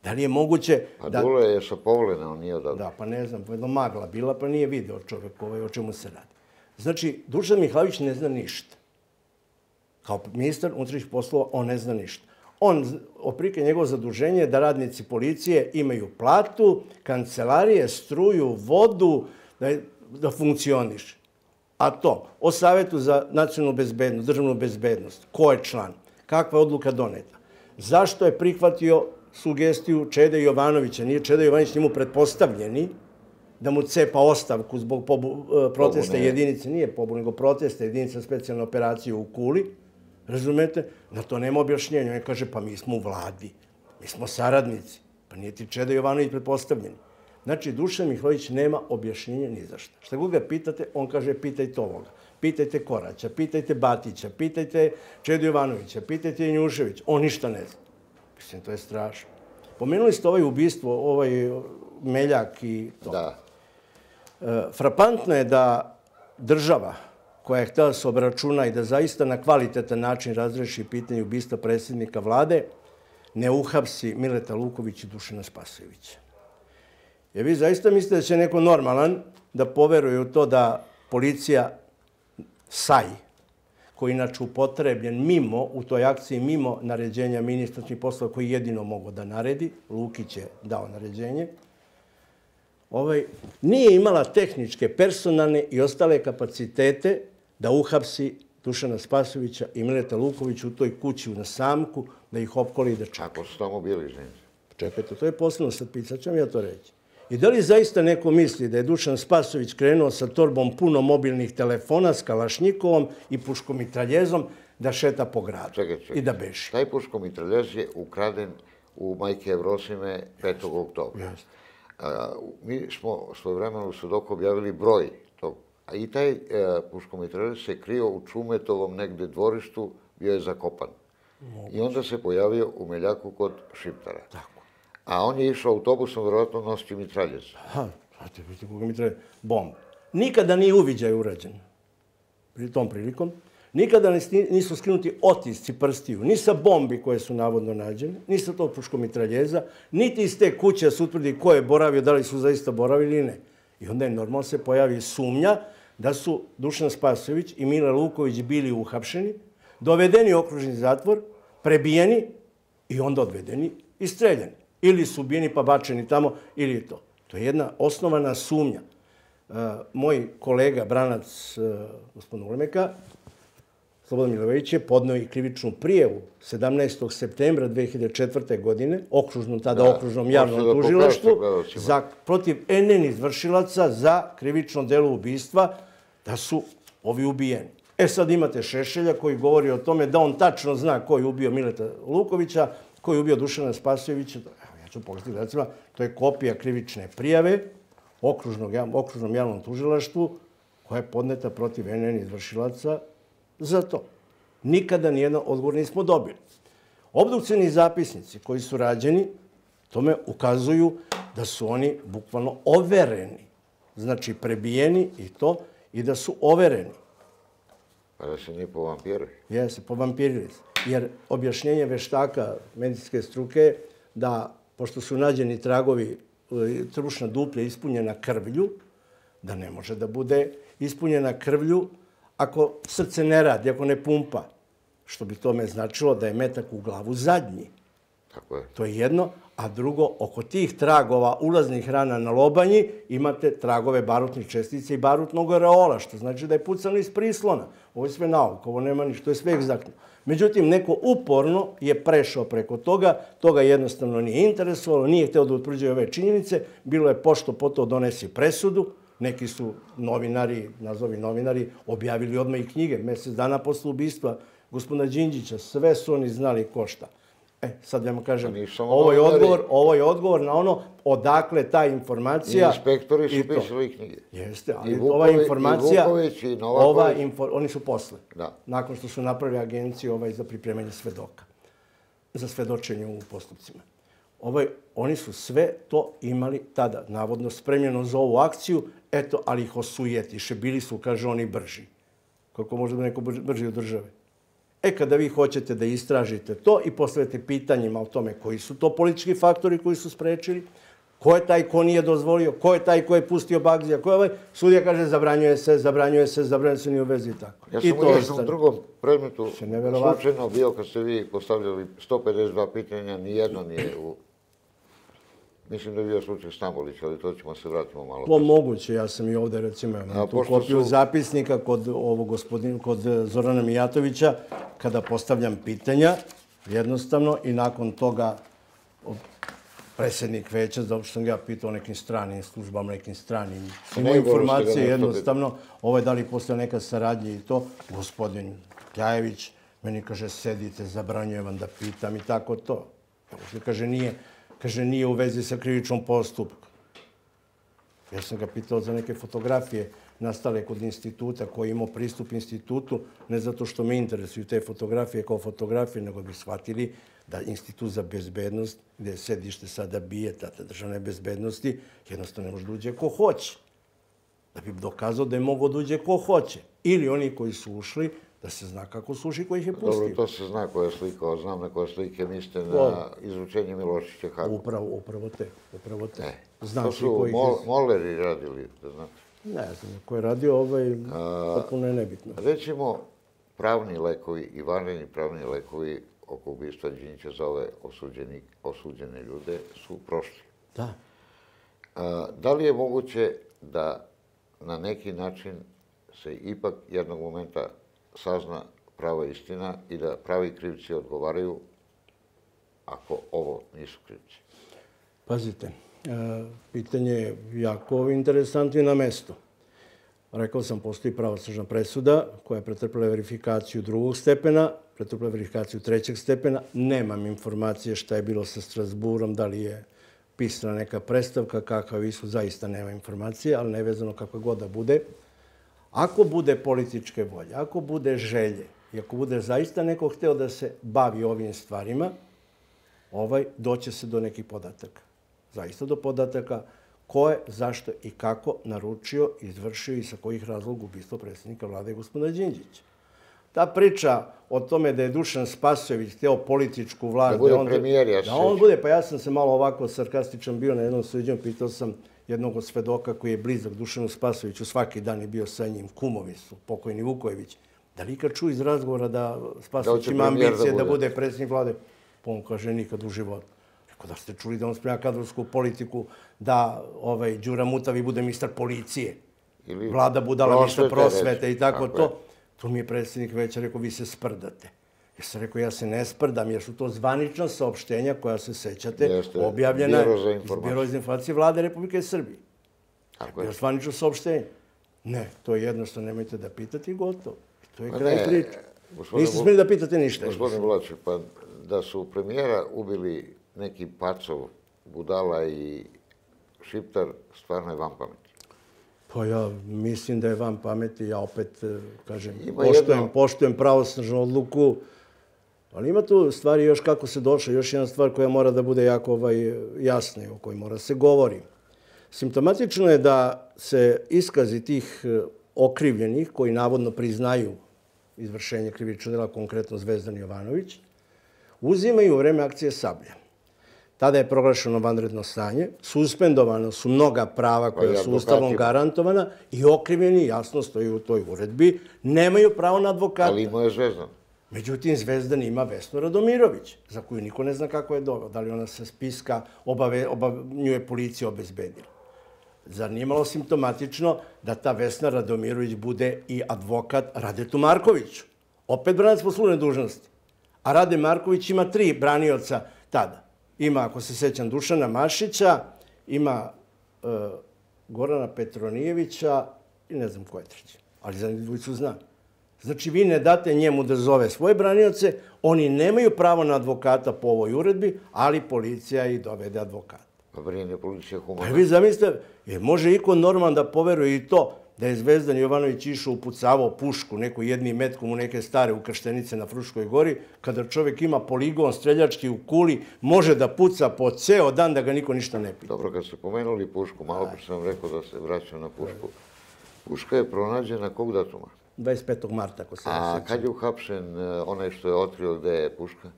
Da li je moguće da... da... A Dule je sa Povlena, on nije odavde. Da, pa ne znam, jedno magla bila, pa nije video čovjek ovaj, o čemu se radi. Znači, Dušan Mihajlović ne zna ništa. Kao ministar unutrašnjih poslova, on ne zna ništa. On, oprike njegovo zaduženje je da radnici policije imaju platu, kancelarije, struju, vodu, da, da funkcioniše. A to, o Savetu za nacionalnu bezbednost, državnu bezbednost, ko je član, kakva je odluka doneta, zašto je prihvatio sugestiju Čede Jovanovića, nije Čeda Jovanović njemu pretpostavljeni, da mu cepa ostavku zbog pobu, protesta jedinice, nije pobu, nego protesta jedinica specijalne operacije u Kuli, razumete? Na to nema objašnjenja. On kaže, pa mi smo u vladi, mi smo saradnici, pa nije ti Čeda Jovanović pretpostavljeni. Znači, Dušan Mihajlović nema objašnjenja ni za šta. Šta god ga pitate, on kaže, pitajte ovoga, pitajte Koraća, pitajte Batića, pitajte Čedu Jovanovića, pitajte Janjušević, on ništa ne zna. Mislim, to je strašno. Pomenuli ste ovaj ubistvo, ovaj Meljak i to. Da. Frapantno je da država koja je htjela da se obračuna i da zaista na kvalitetan način razreši pitanje ubistva predsjednika vlade, ne uhapsi Mileta Luković i Dušana Spasojevića. Jer vi zaista mislite da će neko normalan da poveruje u to da policija S A I, koji je inače upotrebljen mimo, u toj akciji mimo naređenja ministarskih poslova koji jedino mogu da naredi, Lukić je dao naređenje, ovaj, nije imala tehničke, personalne i ostale kapacitete da uhapsi Dušana Spasojevića i Mileta Lukovića u toj kući na Samku, da ih opkoli i da čaka. Ako su tamo bili, ženici? Čekajte, to je posebno sad pisat, ću vam ja to reći. I da li zaista neko misli da je Dušan Spasojević krenuo sa torbom puno mobilnih telefona, s kalašnjikovom i puškomitraljezom da šeta po gradu čekaj, čekaj. i da beži? Taj puškomitraljez je ukraden u Majke Evrosime petog oktobra. Jeste. A, mi smo svojevremeno u Sudoku objavili broj tog. A i taj e, puškomitraljez se krio u Čumetovom negde dvorištu, bio je zakopan. Moguće. I onda se pojavio u Meljaku kod Šiptara. Tako. A on je išao autobusom, vjerojatno nositi mitraljez. Aha, znate, vidite koga mitraljez, bomb. Nikada nije uviđaj urađen. Pri tom prilikom. Nikada nisu skinuti otisci prstiju, ni sa bombi koje su navodno nađene, ni sa tog puškomitraljeza, niti iz te kuće da se utvrdi ko je boravio, da li su zaista boravili ili ne. I onda je normalno se pojavi sumnja da su Dušan Spasojević i Mile Luković bili uhapšeni, dovedeni u okružni zatvor, prebijeni i onda odvedeni i streljani. Ili su ubijeni pa bačeni tamo, ili to. To je jedna osnovana sumnja. Moj kolega, branac gospodina Ulemeka, Slobodan Milojević je podneo i krivičnu prijavu sedamnaestog septembra dve hiljade četvrte. godine, okružnom, tada okružnom javnom tužilaštvu, za, protiv N N izvršilaca za krivično delo ubistva, da su ovi ubijeni. E sad imate Šešelja koji govori o tome da on tačno zna ko je ubio Mileta Lukovića, ko je ubio Dušana Spasojevića. Ja ću pogledati, recimo, to je kopija krivične prijave okružnom javnom tužilaštvu koja je podneta protiv N N izvršilaca za to. Nikada nijedan odgovor nismo dobili. Obdukcijni zapisnici koji su rađeni tome ukazuju da su oni bukvalno overeni. Znači prebijeni i to, i da su overeni. Pa da se nije povampirili? Jeste, povampirili se. Jer objašnjenje veštaka medicinske struke da, pošto su nađeni tragovi, trbušna duplja ispunjena krvlju, da ne može da bude ispunjena krvlju ako srce ne radi, ako ne pumpa, što bi tome značilo da je metak u glavu zadnji. Tako je. To je jedno. A drugo, oko tih tragova ulaznih rana na lobanji imate tragove barutnih čestica i barutnog areola, što znači da je pucano iz prislona. Ovo je sve nauka, ovo nema ništa, to je sve egzaktno. Međutim, neko uporno je prešao preko toga, toga jednostavno nije interesovalo, nije hteo da utvrđuje ove činjenice, bilo je pošto poto donesi presudu, neki su novinari, nazovi novinari, objavili odmah i knjige, mjesec dana posle ubistva gospodina Đinđića, sve su oni znali ko šta. E, sad ja vam kažem, Pa nisu samo ovo je, novinari. odgovor, ovo je odgovor na ono odakle ta informacija. I inspektori su i to. pisali knjige. Jeste, ali I ova Vuković- informacija, i Vuković, i Novaković. ova info, oni su posle, Da. nakon što su napravili agenciju ovaj, za pripremanje svedoka, za svedočenje u postupcima. Ovaj, oni su sve to imali tada, navodno spremljeno za ovu akciju, eto, ali ih osujetiše, bili su, kaže, oni brži. Kako može da neko brži, brži od države? E, kada vi hoćete da istražite to i postavite pitanjima o tome koji su to politički faktori koji su sprečili, ko je taj ko nije dozvolio, ko je taj ko je pustio Bagzija, ko je ovaj, sudija kaže zabranjuje se, zabranjuje se, zabranjuje se, nije u vezi i tako. Ja I sam u to jednom ostane. drugom predmetu Se neverovatno. slučajno bio kad ste vi postavljali sto pedeset dva pitanja, nijedno nije u... Mislim da je bio slučaj Stambolić, ali to ćemo se vratimo malo. To moguće, ja sam i ovde recimo imam A, tu pošto kopiju su- zapisnika kod ovog gospodina, kod Zorana Mijatovića, kada postavljam pitanja, jednostavno, i nakon toga o, predsjednik veća, zato što sam ga ja pitao o nekim stranim službama, nekim stranim svima ne, govorili ste da informacije, nešto jednostavno, ovo je da li postoje neka saradnja i to, gospodin Kljajević meni kaže, sedite, zabranjujem vam da pitam i tako to. Uopšte, kaže, nije, kaže, nije u vezi sa krivičnom postupkom. Ja sam ga pitao za neke fotografije nastale kod instituta koji je imao pristup institutu, ne zato što me interesuju te fotografije kao fotografije, nego bi shvatili da Institut za bezbednost, gde je sedište sada bije, tada državne bezbednosti, jednostavno ne može da uđe ko hoće. Da bi dokazao da je mogao da uđe ko hoće. Ili oni koji su ušli, da se zna kako su ušli, koji ih je pustio. Dobro, to se zna koja je slika, znam na koje slike mislite na Dobro. izručenje Milošića Hagu. Upravo, upravo te, upravo te. E, Znam to svi su koji ih mol, je... moleri radili, da znate. Ne znam, ko je radio ovaj, potpuno je nebitno. Recimo, pravni lekovi i vanredni pravni lekovi oko ubistva Đinđića za ove osuđeni, osuđene ljude su prošli. Da. A, da li je moguće da na neki način se ipak jednog momenta sazna prava istina i da pravi krivci odgovaraju ako ovo nisu krivci? Pazite, e, pitanje je jako interesantno i na mesto. Rekao sam, postoji pravosnažna presuda koja je pretrpela verifikaciju drugog stepena, pretrpela verifikaciju trećeg stepena. Nemam informacije šta je bilo sa Strasburom, da li je pisana neka predstavka, kakav ishod, zaista nema informacije, ali nevezano kako god da bude. Ako bude političke volje, ako bude želje i ako bude zaista neko hteo da se bavi ovim stvarima, ovaj, doće se do nekih podataka. Zaista do podataka ko je, zašto i kako naručio, izvršio i sa kojih razloga ubistvo predsjednika vlade gospodina Đinđića. Ta priča o tome da je Dušan Spasojević hteo političku vlast... Da bude on, premijer, ja se Da on sjećam. bude, pa ja sam se malo ovako sarkastičan bio na jednom suđenju, pitao sam jednog od svedoka koji je blizak Dušanu Spasojeviću, svaki dan je bio sa njim, kumovi su, pokojni Vukojević. Da li ikad čuo iz razgovora da Spasojević hoće ima premijer da ambicije da bude? bude predsjednik vlade? Pa on kaže, nikad u životu. Rekao, da ste čuli da on sprema kadrovsku politiku, da ovaj, Đura Mutavi bude ministar policije, Ili Vlada Budala ministar prosvete, prosvete i tako, tako je. to. To mi je predsjednik veća rekao, vi se sprdate. Ja sam rekao, ja se ne sprdam, jer su to zvanična saopštenja koja se sećate, Jeste, objavljena Biro za iz informacije. Biro za informacije Vlade Republike Srbije. Tako je. Bio zvanično saopštenje. Ne, to je jednostavno, nemojte da pitate i gotovo. To je Ma kraj ne, priče. gospodine Niste Vuk- smeli da pitate ništa. Gospodine Vlačić, pa da su premijera ubili neki Pacov, Budala i Šiptar, stvarno je van pameti. Pa ja mislim da je van pameti, ja opet, eh, kažem, Ima poštujem, jedno- poštujem pravosnažnu odluku, ali ima tu stvari još kako se došlo, još jedna stvar koja mora da bude jako ovaj, jasna i o kojoj mora se govori. Simptomatično je da se iskazi tih eh, okrivljenih, koji navodno priznaju izvršenje krivičnog dela, konkretno Zvezdan Jovanović, uzimaju u vreme akcije Sablja. Tada je proglašeno vanredno stanje, suspendovano su mnoga prava koja Pa i su Ustavom advokati. garantovana i okrivljeni, jasno stoji u toj uredbi, nemaju pravo na advokata. Ali imao je Zvezdan. Međutim, Zvezdan ima Vesnu Radomirović, za koju niko ne zna kako je doveo. Da li ona sa spiska obave, oba, nju je policija obezbedila. Zar nije malo simptomatično da ta Vesna Radomirović bude i advokat Radetu Markoviću? Opet branac po službenoj dužnosti. A Rade Marković ima tri branioca tada. Ima, ako se sećam, Dušana Mašića, ima e, Gorana Petronijevića i ne znam ko je treći. Ali za njih dvojicu znam. Znači, vi ne date njemu da zove svoje branioce, oni nemaju pravo na advokata po ovoj uredbi, ali policija i dovede advokata. Pa brine policija humana. Pa vi zamislite, jer može iko normalan da poveruje i to da je Zvezdan Jovanović išao upucavao pušku neku jednim metkom u neke stare ukrštenice na Fruškoj gori, kada čovjek ima poligon streljački u Kuli, može da puca po ceo dan da ga niko ništa ne pita. Dobro, kad ste pomenuli pušku, malo bi sam rekao da se vraćam na pušku. Puška je pronađena kog datuma? dvadeset petog marta, ako se ne A sjećam. kad je uhapšen onaj što je otkrio gde je puška?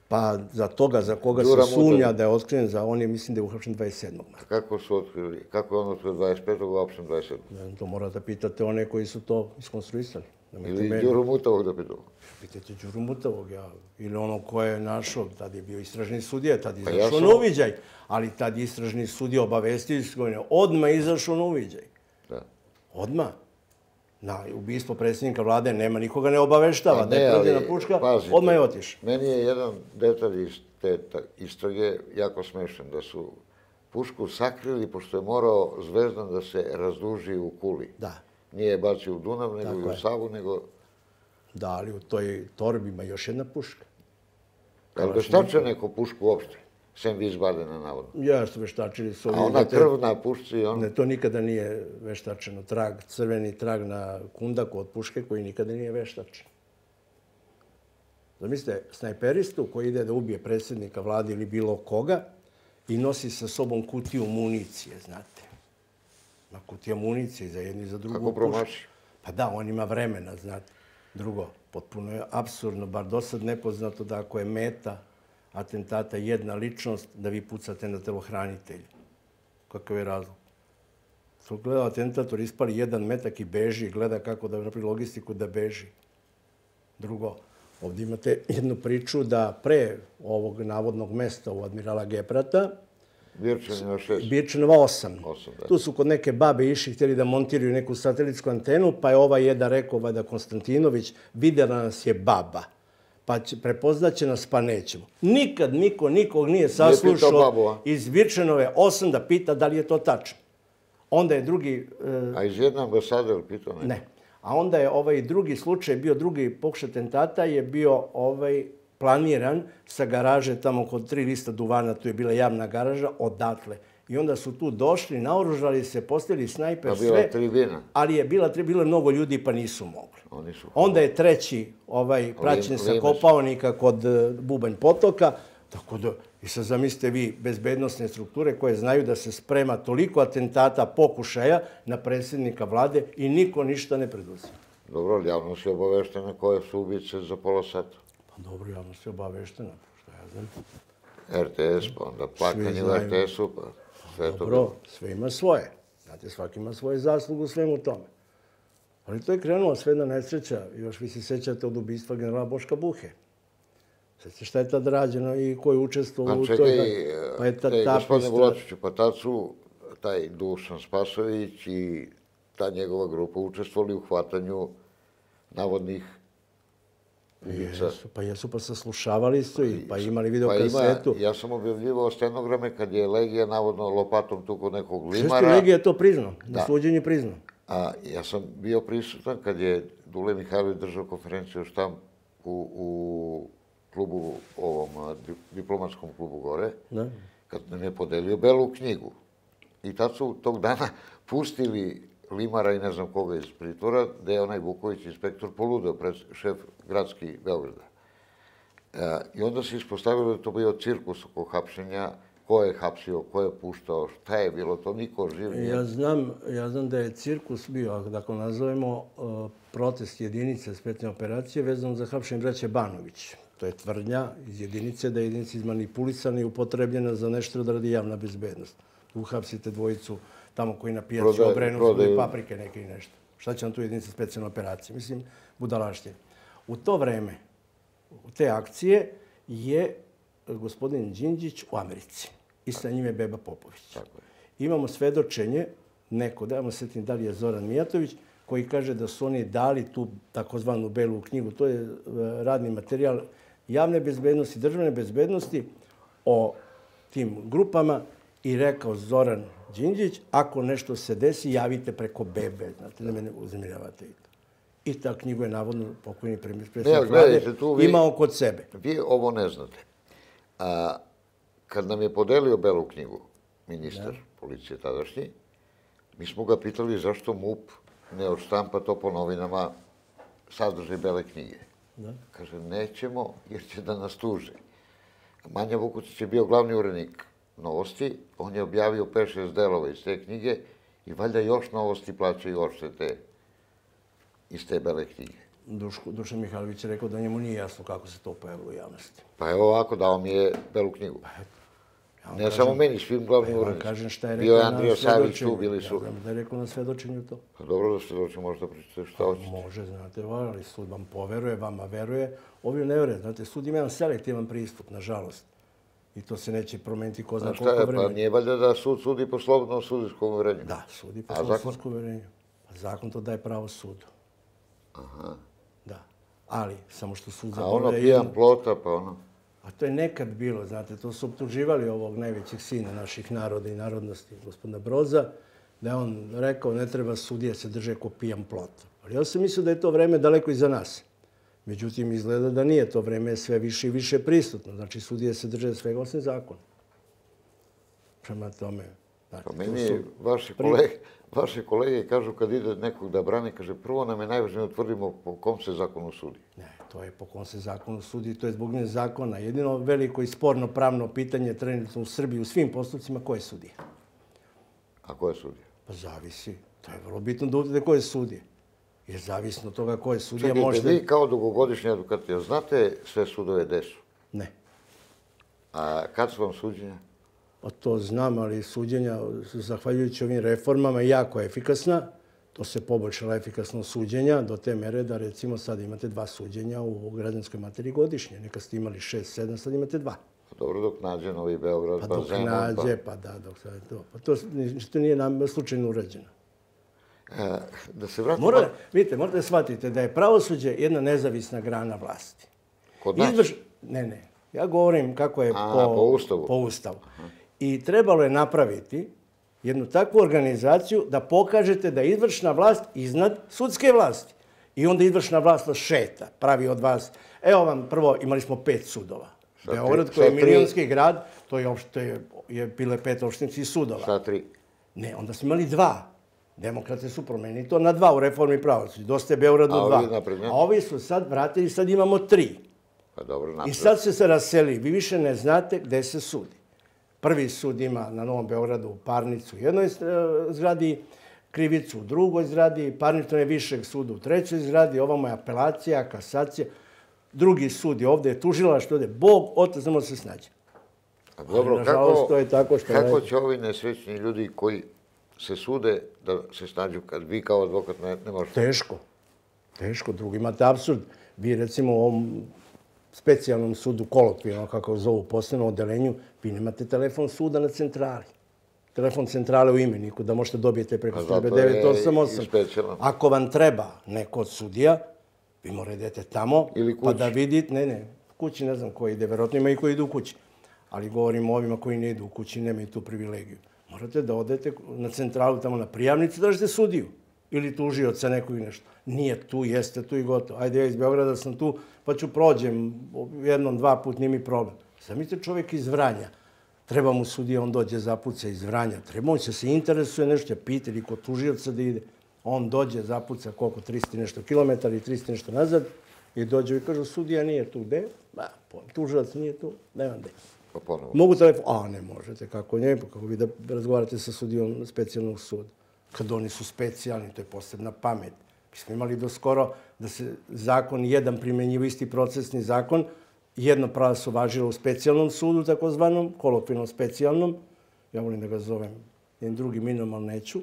Pa za toga za koga se sumnja da je otkriven, za on je, mislim da je uhapšen dvadeset sedmog marta. Kako su otkrili? Kako je on otkrio dvadeset petog, uhapšen dvadeset sedmog? To morate pitati one koji su to iskonstruisali. Ili Đuru Mutavog da pitao? Pitajte Đuru Mutavog, ja. Ili ono ko je našao, tad je bio istražni sudija, tad je Pa ja izašao sam- na uviđaj. Ali tad je istražni sudija obavestio se, odmah je izašao na uviđaj. Da. Odmah. Na ubistvo predsjednika vlade nema nikoga ne obaveštava Pa da je ne, ali, prođena puška, pazite, odmah je otišao. Meni je jedan detalj iz te ta- istrage jako smešan, da su pušku sakrili pošto je morao Zvezdan da se razduži u Kuli. Da. Nije je bacio u Dunav, nego Tako i u je. Savu, nego... Da, ali u toj torbi ima još jedna puška. Je li veštačio neko pušku uopšte? Sem Wiesbadena, navodno. Ja su veštačili su ovi... A ona krv na pušci, on... Ne, to nikada nije veštačeno. Trag, crveni trag na kundaku od puške koji nikada nije veštačen. Zamislite, snajperistu koji ide da ubije predsjednika vlade ili bilo koga i nosi sa sobom kutiju municije, znate. Ma kutija municije za jednu i za drugu Kako pušku. promaši? Pa da, on ima vremena, znate. Drugo, potpuno je apsurdno, bar do sad nepoznato da ako je meta atentata jedna ličnost, da vi pucate na telohranitelja. Kakav je razlog? To gleda atentator, ispali jedan metak i beži, gleda kako da napravi logistiku da beži. Drugo, ovdje imate jednu priču da pre ovog navodnog mesta u Admirala Geprata, Birčanina šest. Birčanova osam. Osam, da. Tu su kod neke babe išli, htjeli da montiraju neku satelitsku antenu, pa je ovaj jedan rekao, vada Konstantinović, vidjela nas je baba, pa će, prepoznaće nas, pa nećemo. Nikad niko nikog nije pitao babu, saslušao a? iz Birčanove osam da pita da li je to tačno. Onda je drugi... e, A iz jedne ambasade, je li pitao neko? Ne. A onda je ovaj drugi slučaj, bio drugi pokušaj atentata, je bio ovaj planiran sa garaže tamo kod tri lista duvana, tu je bila javna garaža, odatle. I onda su tu došli, naoružali se, postavili snajper, A sve. bila tribina. Ali je bila, bilo je mnogo ljudi pa nisu mogli. Oni su... Onda je treći ovaj praćen sa Limes. Kopaonika kod e, Bubanj potoka. Tako da, i sad zamislite vi bezbednosne strukture koje znaju da se sprema toliko atentata, pokušaja na predsjednika vlade i niko ništa ne preduzima. Dobro, ali javnost je obaveštena koje su ubice za pola sata. Pa dobro, javnost je obaveštena, što ja znam. R T S, pa onda plakanje u znaju. R T S-u, pa sve to Dobro, bilo. sve ima svoje. Znate, svaki ima svoje zaslugu u svemu tome. Ali to je krenulo sve jedna nesreća. Još vi se sjećate od ubistva generala Boška Buhe. Sjećate šta je tad rađeno i ko je učestvovao Pa u toj... čekaj, Pa je ta, taj ta gospodine pistra- Bulatoviću, pa tad su taj Dušan Spasović i ta njegova grupa učestvovali u hvatanju navodnih ubica. Jesu, pa jesu, pa saslušavali su i pa imali video Pa ima, kasetu. ja sam objavljivao stenograme kad je Legija navodno lopatom tuko nekog Šesto limara. Legija je to priznao, na Da. suđenju priznao. A ja sam bio prisutan kad je Dule Mihajlović držao konferenciju o štampu u klubu, ovom a, di- diplomatskom klubu gore, Da. kad nam je podelio belu knjigu. I tad su tog dana pustili Limara i ne znam koga iz pritvora, gde je onaj Vuković, inspektor, poludeo pred šef gradski Beograda. E, I onda se ispostavilo da je to bio cirkus oko hapšenja, ko je hapsio, ko je puštao, šta je bilo, to niko živ nije. Ja znam, ja znam da je cirkus bio, ako dakle nazovemo, uh, protest jedinice specijalne operacije vezano za hapšenje braće Banović. To je tvrdnja iz jedinice, da je jedinica izmanipulisana i upotrebljena za nešto da radi javna bezbednost. Uhapsite dvojicu tamo koji na pijaci Prodaje- obrenu prodaju- svoje paprike neke i nešto. Šta će vam tu jedinica specijalne operacije? Mislim, budalaštine. U to vreme, u te akcije, je gospodin Đinđić u Americi. I sa njime Beba Popović. Tako je. Imamo svedočenje, neko, da se setim da li je Zoran Mijatović, koji kaže da su oni dali tu takozvanu belu knjigu. To je e, radni materijal javne bezbednosti, državne bezbednosti o tim grupama i rekao Zoran Đinđić, ako nešto se desi, javite preko Bebe, znate, da me ne uznemiravate. I ta knjigu je navodno pokojni predsjednik Ne, vlade gledajte, tu vi- imao kod sebe. Vi ovo ne znate. A, kad nam je podelio Belu knjigu, ministar policije tadašnji, mi smo ga pitali zašto MUP ne odštampa to po novinama sadržaj Bele knjige. Da. Kaže, nećemo jer će da nas tuže. Manja Vukucić je bio glavni urednik Novosti, on je objavio pet šest delova iz te knjige i valjda još Novosti plaćaju odštete iz te Bele knjige. Duško, Dušan Mihajlović je rekao da njemu nije jasno kako se to pojavilo u javnosti. Pa evo ovako, dao mi je Belu knjigu. Ja vam Ne kažem- samo meni, svim glavnim Ja vam urednicima. kažem šta je Bio rekao je na Andrija Savić tu, svedočenju. bili su. Ja znam da je rekao na svedočenju to. Pa dobro da se doći, možda pričate šta hoćete. Može, znate, ali sud vam poveruje, vama veruje. Ovi ne veruje. Znate, sud ima jedan selektivan pristup, nažalost. I to se neće promeniti ko zna Znaš šta koliko je, pa vremena. nije valjda da sud sudi po slobodnom sudijskom uverenju? Da, sudi po A svom zakon? sudskom uverenju. A zakon to daje pravo sudu. Aha. Da. Ali, samo što sud A ono zaboravlja pijan jedno. plota, pa ono... A to je nekad bilo, znate, to su optuživali ovog najvećeg sina naših naroda i narodnosti, gospodina Broza, da je on rekao ne treba sudije se drže ko pijan plot. Ali ja sam mislio da je to vreme daleko iza nas. Međutim, izgleda da nije to vreme sve više i više prisutno. Znači, sudije se drže svega osim zakona. Prema tome... Znači, Pa to meni su- vaši kolege, vaše kolege kažu kad ide nekog da brani, kaže prvo nam je najvažnije da utvrdimo po kom se zakonu sudi. Ne, to je po kom se zakonu sudi, to je zbog nje zakona. Jedino veliko i sporno pravno pitanje trenutno u Srbiji u svim postupcima ko je sudija. A ko je sudija? Pa zavisi. To je vrlo bitno da utvrdite ko je sudija. Jer zavisno od toga ko je sudija Čekajte, možete... vi kao dugogodišnji advokat, jel znate sve sudove gde su? Ne. A kad su vam suđenja? Pa to znam, ali suđenja, zahvaljujući ovim reformama, jako efikasna. To se poboljšala efikasnost suđenja do te mere da recimo sad imate dva suđenja u građanskoj materiji godišnje. Nekad ste imali šest, sedam, sad imate dva. Pa dobro, dok nađe Novi Beograd, Pa pa, dok Zemun, nađe, pa da, dok sad je to. Pa to što nije nam slučajno urađeno. pa... E, da se vratimo... Mora, vidite, morate da shvatite da je pravosuđe jedna nezavisna grana vlasti. Kod nas? Izvrš... Ne, ne. Ja govorim kako je A, po, po Ustavu. po Ustavu. I trebalo je napraviti jednu takvu organizaciju da pokažete da je izvršna vlast iznad sudske vlasti. I onda izvršna vlast vas šeta, pravi od vas... Evo vam, prvo, imali smo pet sudova. Sa tri- Beograd, koji je sa tri- milionski grad, to je, opšte, je, je bile pet opštinskih sudova. Šta tri? Ne, onda smo imali dva. Demokrate su promenili to na dva u reformi pravosuđa. Dosta je Beogradu A dva. ovi naprednjaci? A ovi su sad vratili, sad imamo tri. Pa dobro, I napred. sad se se raseli. Vi više ne znate gde se sudi. Prvi sud ima na Novom Beogradu parnicu u jednoj e, zgradi, krivicu u drugoj zgradi, parnicu je višeg suda u trećoj zgradi, ovamo je apelacija, kasacija. Drugi sud je ovde, je tužilaštvo, ovde je Bog, otac, znamo da se snađe. A dobro, nažalost, kako, to je tako što kako je- će ovi nesrećni ljudi koji se sude da se snađu kad vi kao advokat ne, ne možete? Teško. Teško. Drugo, imate apsurd. Vi recimo u ovom specijalnom sudu, kolokvijalno, kako ga zovu, posebnom odelenju, vi nemate telefon suda na centrali. Telefon centrale u imeniku, da možete dobijete preko Pa zato službe devet osam je osam. i specijalan. Ako vam treba neko od sudija, vi morate idete tamo, Ili pa kući. da vidite, ne, ne, kući ne znam ko ide, verovatno ima i koji idu u kući. Ali govorim o ovima koji ne idu u kući, nemaju tu privilegiju. Morate da odete na centralu, tamo na prijavnicu, da tražite sudiju. Ili tužioca nekog i nešto. Nije tu, jeste tu i gotovo. Ajde, ja iz Beograda sam tu, pa ću prođem jednom, dva put, nije mi problem. Zamislite čovjek iz Vranja. Treba mu sudija, on dođe, zapuca iz Vranja. Treba on će se interesuje nešto, će pita ili kod tužioca da ide. On dođe, zapuca koliko, tristo i nešto kilometara i tristo i nešto nazad i dođe i kaže, sudija nije tu, gde? Ba, tužilac nije tu, nema gde. Pa ponovo. Mogu telefon? A, ne možete, kako ne, pa kako vi da razgovarate sa sudijom specijalnog suda. Kad oni su specijalni, to je posebna pamet. Mi smo imali do skoro da se zakon jedan primjenjivo, isti procesni zakon, jedno pravo su važilo u specijalnom sudu, takozvanom, kolokvijalno specijalnom, ja volim da ga zovem jednim drugim imenom, ali neću,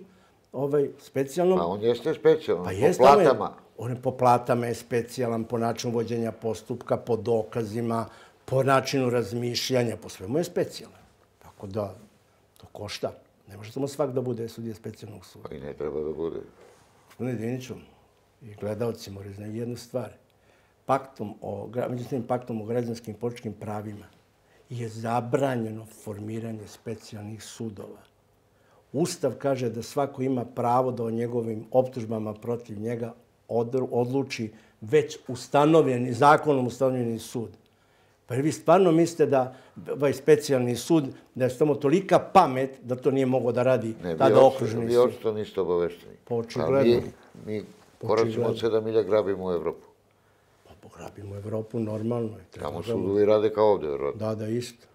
ovaj, specijalnom. Pa on jeste specijalan, Pa po jeste, ali platama. On je po platama je specijalan, po načinu vođenja postupka, po dokazima, po načinu razmišljanja, po svemu je specijalan. Tako da, to košta. Ne može samo svak da bude sudija specijalnog suda. Pa i ne treba da bude. Gospodine Diniću i gledalci moraju znati jednu stvar. Paktom o, međutim, paktom o građanskim i političkim pravima je zabranjeno formiranje specijalnih sudova. Ustav kaže da svako ima pravo da o njegovim optužbama protiv njega odluči već ustanovljeni, zakonom ustanovljeni sud. Pa vi stvarno mislite da ovaj specijalni sud, da je samo tolika pamet da to nije moglo da radi tada okružni sud? Vi očito niste obavešteni. Pa očigledno. Mi koračimo od sedam milja grabimo u Evropu. Pa grabimo Evropu normalno. Tamo sudovi rade kao ovdje, vjerojatno. Da, da, isto.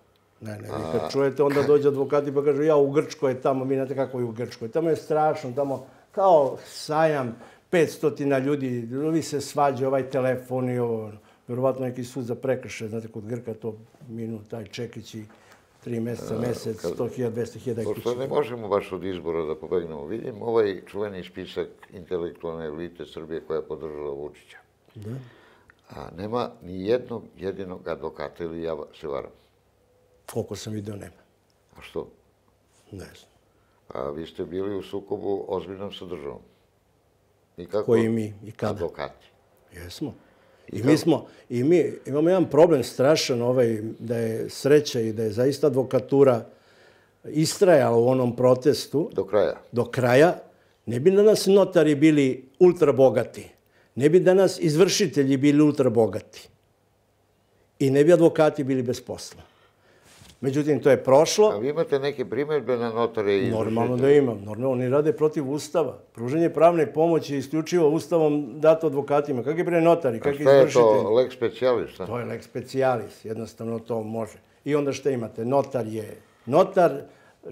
Ne, ne, vi kad čujete, onda dođe advokati pa kažu, ja u Grčkoj je tamo, vi znate kako je u Grčkoj. Tamo je strašno, tamo kao sajam, petstotina ljudi, vi se svađa, ovaj telefon i ovo. Vjerovatno neki sud za prekršaj, znate, kod Grka to minut, taj čekić i tri mjeseca, mjesec, sto hiljada, dvesta hiljada kuće. Pošto ne možemo baš od izbora da pobegnemo, vidim ovaj čuveni spisak intelektualne elite Srbije koja je podržala Vučića. Da. A nema ni jednog jedinog advokata ili ja se varam. Koliko sam vidio, nema. A što? Ne znam. A vi ste bili u sukobu ozbiljnom sa državom. Koji mi i kada? Advokati. Jesmo. I mi smo, i mi imamo jedan problem strašan ovaj, da je sreća i da je zaista advokatura istrajala u onom protestu. Do kraja. Do kraja. Ne bi danas notari bili ultra bogati. Ne bi danas izvršitelji bili ultra bogati. I ne bi advokati bili bez posla. Međutim, to je prošlo. A vi imate neke primjedbe na notare i izvršitelje? Normalno da imam. Normalno, oni rade protiv Ustava. Pruženje pravne pomoći je isključivo Ustavom dato advokatima. Kakvi bre notari, kakvi izvršitelji? A šta je to, lex specialis? To je lex specialis. Jednostavno to može. I onda šta imate? Notar je notar,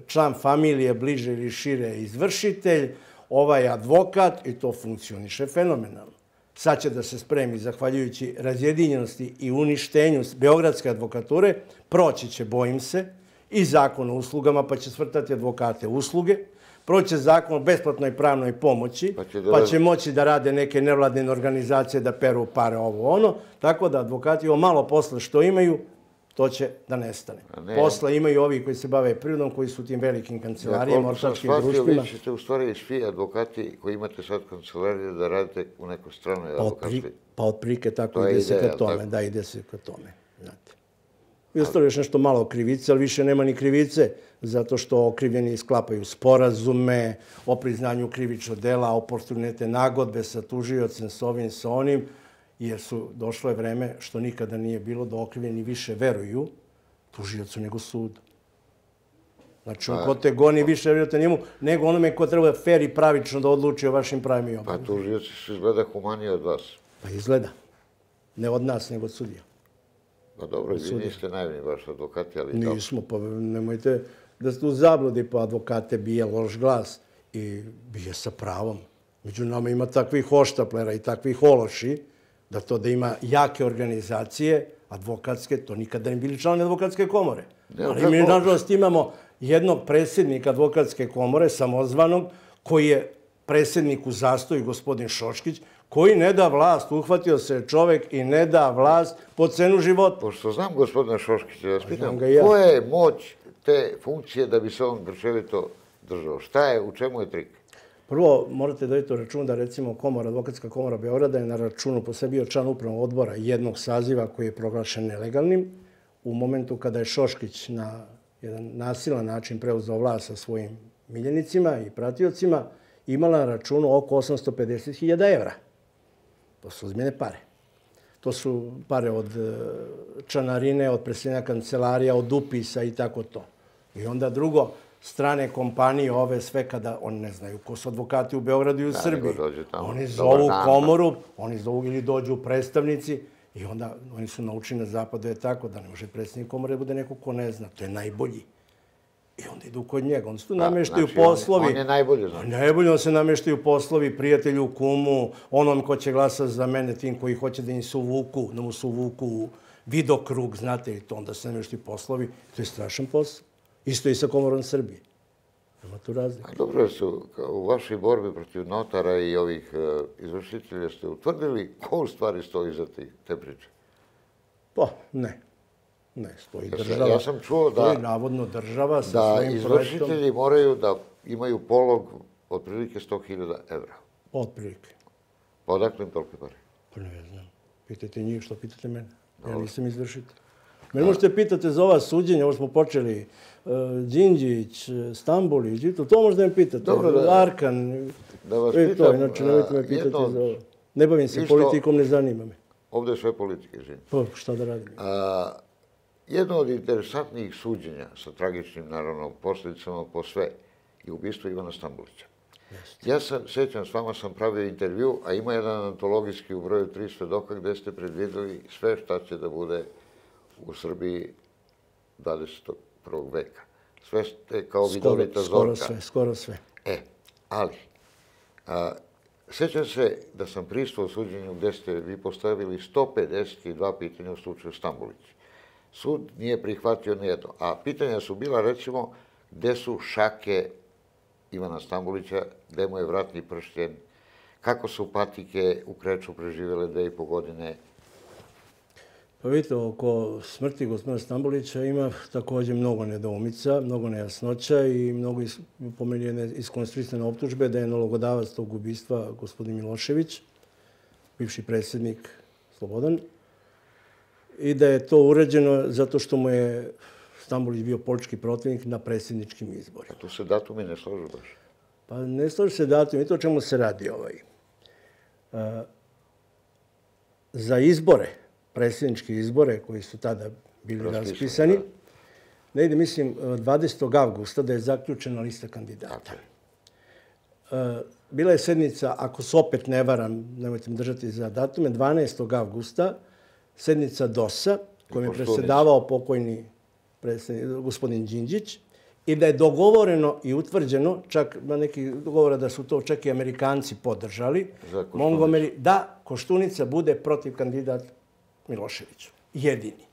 član familije bliže ili šire izvršitelj, ovaj advokat i to funkcioniše fenomenalno. Sad će da se spremi, zahvaljujući razjedinjenosti i uništenju beogradske advokature, proći će, bojim se, i zakon o uslugama, pa će svrtati advokate usluge, proći će zakon o besplatnoj pravnoj pomoći, pa će moći da rade neke nevladine organizacije da peru pare ovo ono, tako da advokati ovo malo posla što imaju, to će da nestane. Posla imaju ovi koji se bave prirodom, koji su u tim velikim kancelarijama, ortačkim društvima. Vi ćete u stvari svi advokati koji imate sad kancelarije da radite u nekoj stranoj advokatstvi. Pa otprilike tako ide se ka tome. Da, ide se ka tome. I ostalo još nešto malo krivice, ali više nema ni krivice, zato što okrivljeni sklapaju sporazume o priznanju krivičnog dela, oportunite nagodbe sa tužiocem, s ovim, sa onim, jer su došlo je vreme, što nikada nije bilo, da okrivljeni više veruju tužiocu nego sudu. Znači, ko te goni više verujete njemu, nego onome ko treba fer i pravično da odluči o vašim pravima i obavljama. Pa tužioci su izgleda humaniji od vas. Pa izgleda. Ne od nas, nego od sudija. Pa dobro, vi niste naivni vaši advokati, ali... Nismo, pa nemojte da ste u zabludi, pa advokate bije loš glas i bije sa pravom. Među nama ima takvih hoštaplera i takvih ološi, da to da ima jake organizacije, advokatske, to nikada ne bili članovi advokatske komore. Ali mi, nažalost, imamo jednog predsjednika advokatske komore, samozvanog, koji je predsjednik u zastoju, gospodin Šoškić, koji ne da vlast, uhvatio se čovek i ne da vlast po cenu života. Pošto znam gospodina Šoškića, ja vas pitam, koja je moć te funkcije da bi se on grčevito držao? Šta je, u čemu je trik? Prvo, morate da vidite u računu da, recimo, komora, advokatska komora Beograda je na računu po sebi bio član upravnog odbora jednog saziva koji je proglašen nelegalnim. U momentu kada je Šoškić na jedan nasilan način preuzeo vlast sa svojim miljenicima i pratiocima, imala na računu oko osamsto pedeset hiljada evra. To su ozbiljne pare. To su pare od članarine, od preseljenja kancelarija, od upisa i tako to. I onda drugo, strane kompanije, ove sve kada, oni ne znaju ko su advokati u Beogradu i u Srbiji. Oni zovu komoru, oni zovu ili dođu predstavnici i onda oni su naučili na zapadu je tako da ne može predsjednik komore da bude neko ko ne zna. To je najbolji. I onda idu kod njega. Onda se tu nameštaju poslovi. On je najbolji. Najbolji, onda se nameštaju poslovi prijatelju, kumu, onom ko će glasati za mene, tim koji hoće da im se uvuku, da mu se uvuku u vidokrug, znate li to, onda se nameštaju poslovi. To je strašan posao. Isto i sa Komorom Srbije. Nema tu razlika. Dobro su, u vašoj borbi protiv notara i ovih izvršitelja ste utvrdili ko u stvari stoji za te priče? Pa, ne. Ne, stoji država. Ja sam čuo da... Stoji navodno država sa svojim projektom. Da izvršitelji moraju da imaju polog otprilike sto hiljada evra. Otprilike. Pa odakle im tolike pare? Pa ne znam. Pitajte njih što pitate mene. Ja nisam izvršitelj. Mene možete pitati za ova suđenja, ovo smo počeli, Đinđić, Stambolić, to možda me pitate. Arkan, da vas pitam, inače nemojte me pitati za ovo. Ne bavim se Isto- politikom, ne zanima me. Ovde je sve politike, izvini. Pa, šta da radim? A, jedno od interesantnijih suđenja sa tragičnim, naravno, posljedicama po sve je ubistvo Ivana Stambolića. Ja sam, sjećam, s vama sam pravio intervju, a ima jedan antologijski u broju tri svedoka gde ste predvideli sve šta će da bude u Srbiji dvadesetog prvog veka. Sve ste kao vidovita Skoro zorka. sve, skoro sve. E, ali, a, sjećam se da sam prisutvovao suđenju gde ste vi postavili sto pedeset dva pitanja u slučaju Stambolić. Sud nije prihvatio nijedno, a pitanja su bila, recimo, gde su šake Ivana Stambolića, gde mu je vratni pršljen, kako su patike u Kreču preživjele dve i po godine. Pa vidite, oko smrti gospodina Stambolića ima također mnogo nedoumica, mnogo nejasnoća i mnogo is, po meni je iskonstruisane optužbe da je nalogodavac tog ubistva gospodin Milošević, bivši predsjednik Slobodan, i da je to urađeno zato što mu je Stambolić bio politički protivnik na predsjedničkim izborima. A tu se datumi ne složu baš. Pa ne složi se datum, i to o čemu se radi ovaj. A, za izbore, predsjedničke izbore koji su tada bili raspisani, ne ide, mislim, dvadesetog avgusta da je zaključena lista kandidata. A, bila je sednica, ako se opet ne varam, nemojte me držati za datume, dvanaestog avgusta, sednica DOS-a, kojom je predsjedavao pokojni gospodin Đinđić, i da je dogovoreno i utvrđeno, čak na neki dogovora da su to čak i Amerikanci podržali, Montgomery, da Koštunica bude protiv kandidat Miloševiću. Jedini.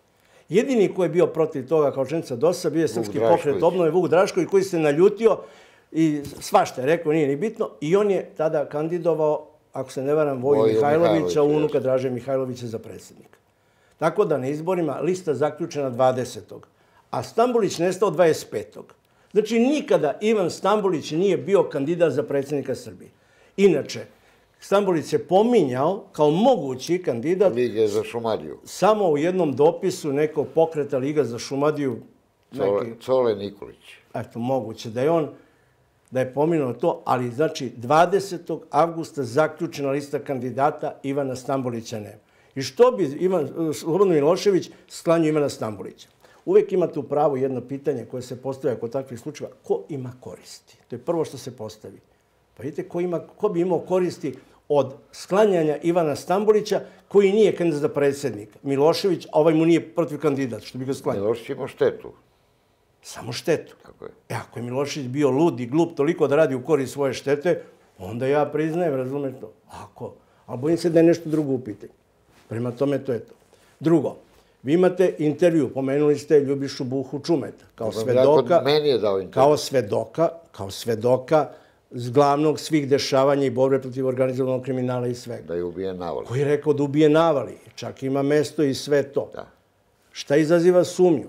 Jedini koji je bio protiv toga kao članica DOS-a bio je Srpski pokret obnove Vuk Drašković, koji se naljutio i svašta je rekao, nije ni bitno, i on je tada kandidovao, ako se ne varam, Voju Mihajlovića, unuka Draže Mihajlovića za predsjednika. Tako da na izborima lista zaključena dvadesetog a Stambolić nestao dvadeset petog Znači, nikada Ivan Stambolić nije bio kandidat za predsjednika Srbije. Inače, Stambolić se pominjao kao mogući kandidat Lige za Šumadiju. Samo u jednom dopisu nekog pokreta Liga za Šumadiju. Cole, neki... Cole Nikolić. Eto, moguće da je on, da je pominuo to, ali znači dvadesetog avgusta zaključena lista kandidata, Ivana Stambolića nema. I što bi Ivan, Slobodan Milošević sklanjao Ivana Stambolića? Uvijek imate u pravu jedno pitanje koje se postavlja kod takvih slučajeva. Ko ima koristi? To je prvo što se postavi. Pa vidite, ko, ima, ko bi imao koristi od sklanjanja Ivana Stambolića, koji nije kandidat za predsjednika? Milošević, a ovaj mu nije protiv kandidat, što bi ga sklanjao. Milošević ima štetu. Samo štetu. Tako je. E, ako je Milošević bio lud i glup toliko da radi u korist svoje štete, onda ja priznajem, razumeš to. Ako, ali bojim se da je nešto drugo u pitanju. Prema tome, to je to. Drugo, vi imate intervju, pomenuli ste Ljubišu Buhu Čumeta, kao svedoka, meni je dao intervju. Kao svedoka, kao svedoka z glavnog svih dešavanja i borbe protiv organizovanog kriminala i svega. Da je ubijen navali. Koji je rekao da ubije navali, čak ima mesto i sve to. Da. Šta izaziva sumnju?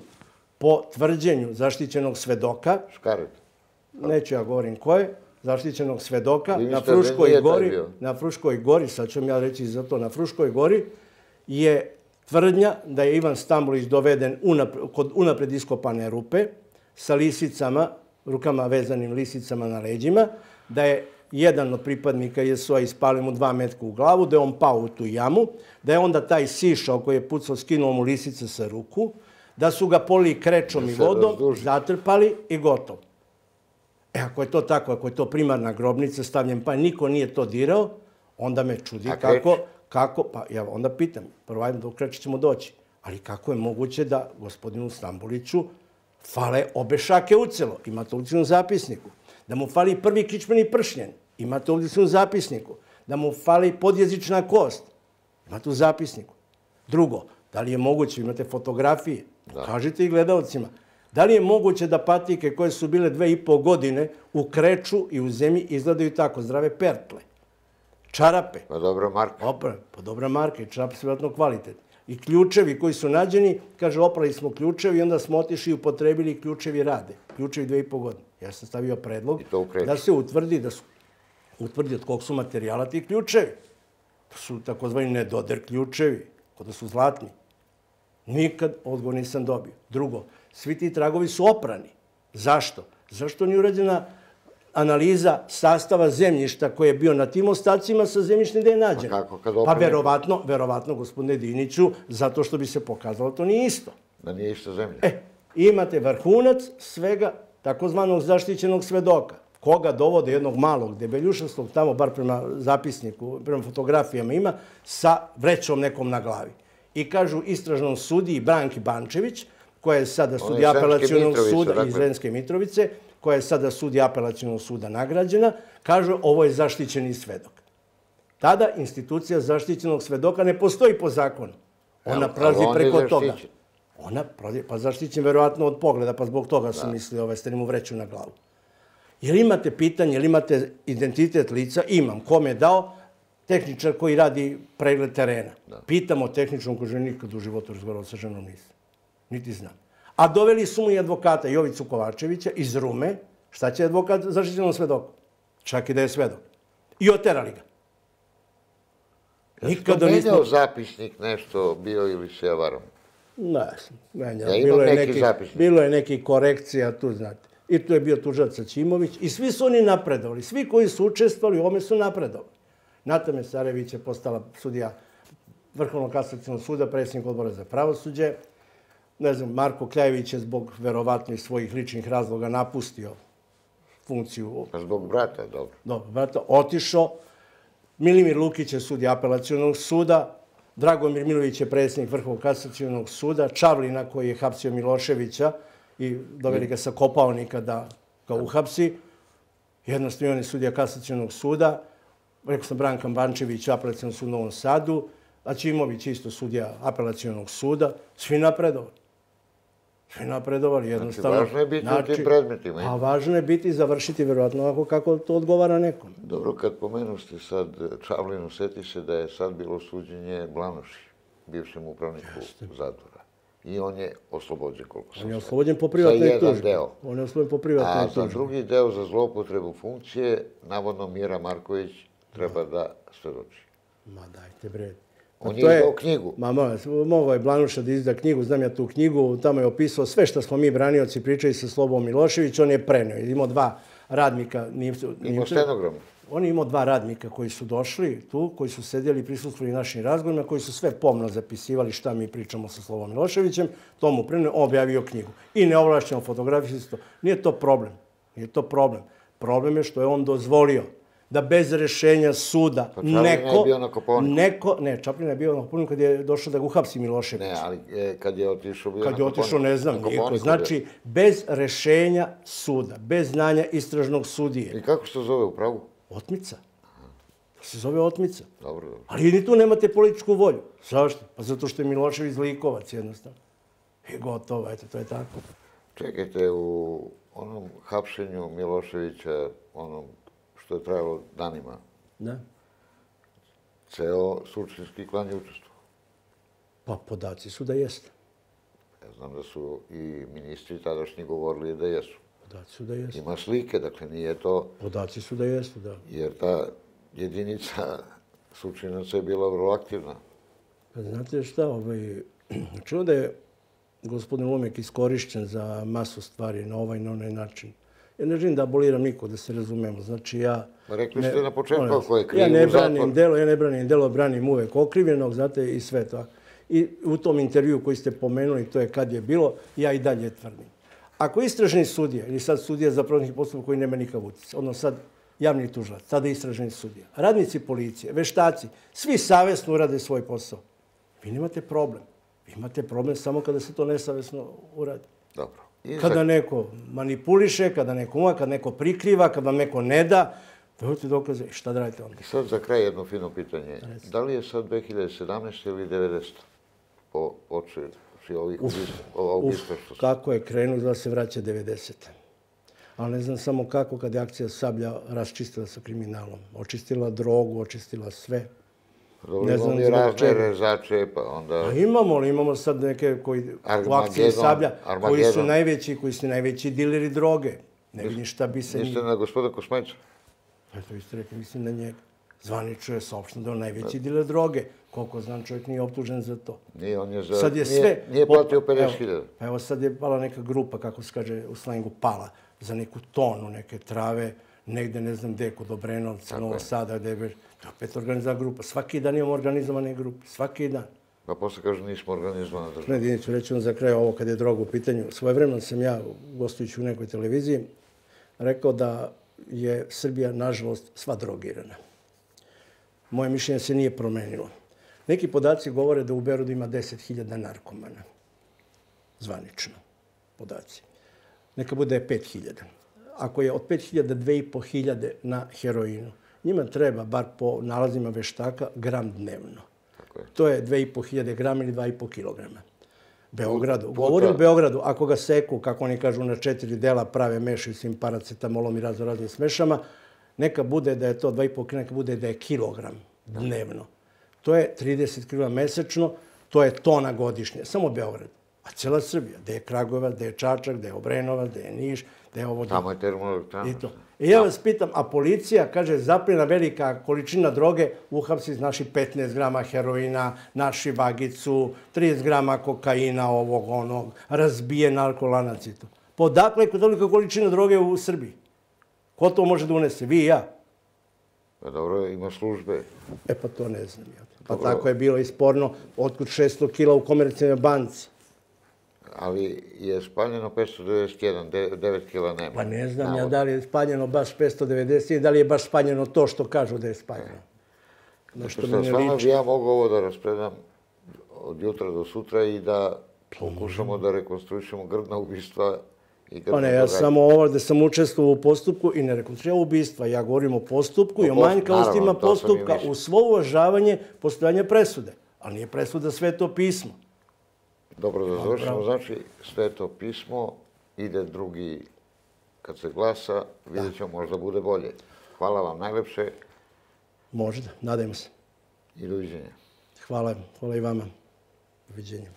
Po tvrđenju zaštićenog svedoka, Škaret. Neću ja govorim ko je, zaštićenog svedoka, na Fruškoj gori, na Fruškoj gori, sad ću vam ja reći za to, na Fruškoj gori je tvrdnja da je Ivan Stambolić doveden unapred, kod unapred iskopane rupe sa lisicama, rukama vezanim lisicama na leđima, da je jedan od pripadnika J S O A ispalio mu dva metka u glavu, da je on pao u tu jamu, da je onda taj sišao koji je pucao, skinuo mu lisice sa ruku, da su ga polili krečom i vodom, zatrpali i gotovo. E, ako je to tako, ako je to primarna grobnica, stavljen pa niko nije to dirao, onda me čudi kako... Kako? Pa ja onda pitam, prvo ajde do Kreča ćemo doći, ali kako je moguće da gospodinu Stamboliću fale obe šake ucelo? Imate ovdje u zapisniku. Da mu fali prvi kičmeni pršnjen? Imate ovdje u zapisniku. Da mu fali podjezična kost? Imate u zapisniku. Drugo, da li je moguće, imate fotografije, da. Kažite i gledalcima, da li je moguće da patike koje su bile dve i po godine u Kreču i u zemlji izgledaju tako, zdrave pertle? Čarape. Pa dobra marka. Opra, pa dobra marka i čarape su vjerojatno kvalitetni. I ključevi koji su nađeni, kaže, oprali smo ključevi i onda smo otišli i upotrebili i ključevi rade. Ključevi dve i po godine. Ja sam stavio predlog da se utvrdi, da su utvrdi od kog su materijala ti ključevi. To su takozvani nedoder ključevi, kod da su zlatni. Nikad odgovor nisam dobio. Drugo, svi ti tragovi su oprani. Zašto? Zašto nije urađena analiza sastava zemljišta koji je bio na tim ostacima sa zemljištem gde je nađen. Pa kako, kad Pa opremi- verovatno, verovatno, gospodine Diniću, zato što bi se pokazalo to nije isto. Da nije ista zemlja. E, imate vrhunac svega takozvanog zaštićenog svedoka, koga dovode jednog malog debeljušastog, tamo bar prema zapisniku, prema fotografijama ima, sa vrećom nekom na glavi. I kažu istražnom sudiji Branki Bančević, koja je sada sudija Sremske apelacionog Mitrovice, suda dakle. iz Sremske Mitrovice, koja je sada sudija apelacionog suda nagrađena, kažu ovo je zaštićeni svedok. Tada institucija zaštićenog svedoka ne postoji po zakonu. Ona Ali prelazi on je preko toga. zaštićen. Ona, prolazi- pa zaštićen verovatno od pogleda, pa zbog toga sam mislio ovaj, ste mu vreću na glavu. Jel imate pitanje, jel imate identitet lica? Imam. Kome je dao? Tehničar koji radi pregled terena. Pitamo tehničnom koji nikad u životu razgovarao sa ženom nisam. Niti znam. A doveli su mu i advokata Jovicu Kovačevića iz Rume. Šta će advokat zaštićenom svedoku? Čak i da je svedok. I oterali ga. Nikada Menjao nismo... zapisnik nešto bio ili se ja varam? Ne, menjao. Ja imam Bilo je neki neki, zapisnik. bilo je neki korekcija, tu znate. I tu je bio tužilac Saćimović i svi su oni napredovali. Svi koji su učestvovali u ovome su napredovali. Nata Mesarević je postala sudija Vrhovnog kasacionog suda, predsjednik odbora za pravosuđe. Ne znam, Marko Kljajević je zbog verovatno iz svojih ličnih razloga napustio funkciju. Pa zbog brata, dobro. Dobro, brata, otišao. Milimir Lukić je sudija apelacionog suda. Dragomir Milović je predsjednik Vrhovnog kasacionog suda. Čavlina koji je hapsio Miloševića i doveli ga sa Kopaonika da ga uhapsi. Jednostavno on je sudija kasacionog suda. Rekao sam Branka Bančević, apelacionog suda u Novom Sadu. Aćimović isto sudija apelacionog suda. Svi napredovali. Svi napredovali jednostavno. važno je biti u tim predmetima. A važno je biti i završiti verovatno onako kako to odgovara nekom. Dobro, kad pomenuste sad Čavlinu, seti se da je sad bilo suđenje Blanoši, bivšem upravniku zatvora. I on je oslobođen, koliko sam On je shvatio. oslobođen po privatnoj Za jedan tužbi. deo. On je oslobođen po privatnoj A za tužbi. drugi deo, za zloupotrebu funkcije, navodno Mira Marković treba da svedoči. Ma dajte bre. Pa On to je izdao knjigu. Ma molim vas, mogao je Blanuša da izda knjigu, znam ja tu knjigu, tamo je opisao sve što smo mi branioci pričali sa Slobom Milošević, on je prenio. Imao dva radnika. Imao stenogram. On je imao dva radnika koji su došli tu, koji su sedjeli i prisustvovali našim razgovorima, koji su sve pomno zapisivali šta mi pričamo sa Slobom Miloševićem. To mu prenio, on objavio knjigu. I neovlašćeno fotografiju. Nije to problem. Nije to problem. Problem je što je on dozvolio da bez rešenja suda Pa Čaplin neko... je bio na Kopaoniku. Neko, ne, Čaplin je bio na Kopaoniku kad je došao da ga uhapsi Milošević. Ne, ali e, kad je otišao bio na Kad je otišao, ne znam, Na niko. Kopaoniku Znači, bez rešenja suda, bez znanja istražnog sudije. bio. I kako se to zove u pravu? Otmica. To se zove otmica. Dobro, dobro. Ali ni tu nemate političku volju. Zašto? Pa zato što je Milošević zlikovac jednostavno. I gotovo, eto, to je tako. Čekajte, u onom hapšenju Miloševića, onom što je trajalo danima, Da? ceo sučinski klan je učestvovao. Pa podaci su da jeste. Ja znam da su i ministri tadašnji govorili da jesu. Podaci su da jeste. Ima slike, dakle nije to, Podaci su da jeste, da. jer ta jedinica sučinaca je bila vrlo aktivna. Pa znate šta, ovaj, čuo da je gospodin Lumek iskorišćen za masu stvari na ovaj i na onaj način. Ja ne želim da aboliram niko, da se razumemo. Znači ja... Ma rekli ne- ste na početku molim vas, ako je kriv Ja ne u zatvor. branim delo, ja ne branim delo, branim uvek okrivljenog, znate, i sve to. I u tom intervju koji ste pomenuli, to je kad je bilo, ja i dalje tvrdim. Ako istražni sudija, ili sad sudija za pravnih postupak koji nema nikakav utjecaj, odnosno sad javni tužilac, tada istražni sudija, radnici policije, veštaci, svi savjesno urade svoj posao. Vi nemate problem. Vi imate problem samo kada se to nesavjesno uradi. Dobro. I Kada za- neko manipuliše, kada neko uma, kada neko prikriva, kada vam neko ne da, dajte dokaze. I šta da radite onda? I sad za kraj jedno fino pitanje. Da li je sad dve hiljade sedamnaeste ili devedesete? Po oči ovih ubistva, ova Uf, ubistva što su. kako je krenuo da se vraća devedesete. Ali ne znam samo kako kad je akcija Sablja raščistila sa kriminalom. Očistila drogu, očistila sve. Dobro, ne znam imamo i zbog razne čega. rezače, pa onda... A imamo li? Imamo sad neke koji u akciji Armagedon, Sablja, koji su Armagedon. najveći, koji su najveći dileri droge. Ne vidim šta bi se... Mislite na gospoda Kosmajca? Eto, vi ste rekli, mislim na njega. Zvanično je saopšteno da je on najveći diler droge. Koliko znam, čovjek nije optužen za to. Nije, on je za... Sad je nije, sve... Nije platio Evo, pedeset hiljada. Pa evo sad je pala neka grupa, kako se kaže u slengu, pala za neku tonu neke trave. negde ne znam gde, kod Obrenovca, Novog Sada, gde je već, to je opet organizovana grupa. Svaki dan imamo organizovane grupe, svaki dan. Pa posle kažu nismo organizovana država. Ne, Diniću, reći vam za kraj ovo kad je droga u pitanju. Svojevremeno sam ja, gostujući u nekoj televiziji, rekao da je Srbija, nažalost, sva drogirana. Moje mišljenje se nije promenilo. Neki podaci govore da u Beogradu ima deset hiljada narkomana. Zvanično podaci. Neka bude pet hiljada. Ako je od pet hiljada, dve i po hiljade na heroinu, njima treba, bar po nalazima veštaka, gram dnevno. To je dve i po hiljade grama ili dva i po kilograma. Beogradu. Govorim o Beogradu. Ako ga seku, kako oni kažu, na četiri dela prave, mešaju s im paracetamolom i razno raznim smešama, neka bude da je to dva i po kilograma, neka bude da je kilogram dnevno. To je trideset kilograma mesečno, to je tona godišnje. Samo Beograd. A cijela Srbija. Gde je Kragujevac, gde je Čačak, gde je Obrenovac, gde je Niš, gde je ovo... Tamo je termoelektrana. I to. I ja vas pitam, a policija, kaže, zapljena velika količina droge, uhapsi naši petnaest grama heroina, naši vagicu, trideset grama kokaina, ovog, onog, razbijen alkolanac i to. Podakle je tolika količina droge u Srbiji? Ko to može da unese? Vi i ja? Pa dobro, ima službe. E pa to ne znam. Pa tako je bilo i sporno, otkud šesto kila u Komercijalnoj banci. Ali je spaljeno petsto devedeset jedan, devet kila nema. Pa ne znam ja da li je spaljeno baš petsto devedeset jedan, da li je baš spaljeno to što kažu da je spaljeno. Što stvarno bi ja mogu ovo da raspredam od jutra do sutra i da pokušamo da rekonstruišemo grdna ubistva i grdna događanja. Pa ne, ja samo ovdje sam učestvovao u postupku i ne rekonstruiram ubistva. Ja govorim o postupku i o manjkavostima postupka u svo uvažavanje postojanja presude. Ali nije presuda Sveto pismo. Dobro, da završimo. Znači, Sveto pismo, ide drugi, kad se glasa, vidjet ćemo, možda bude bolje. Hvala vam najlepše. Možda, nadajmo se. I doviđenja. Hvala, hvala i vama. Doviđenja.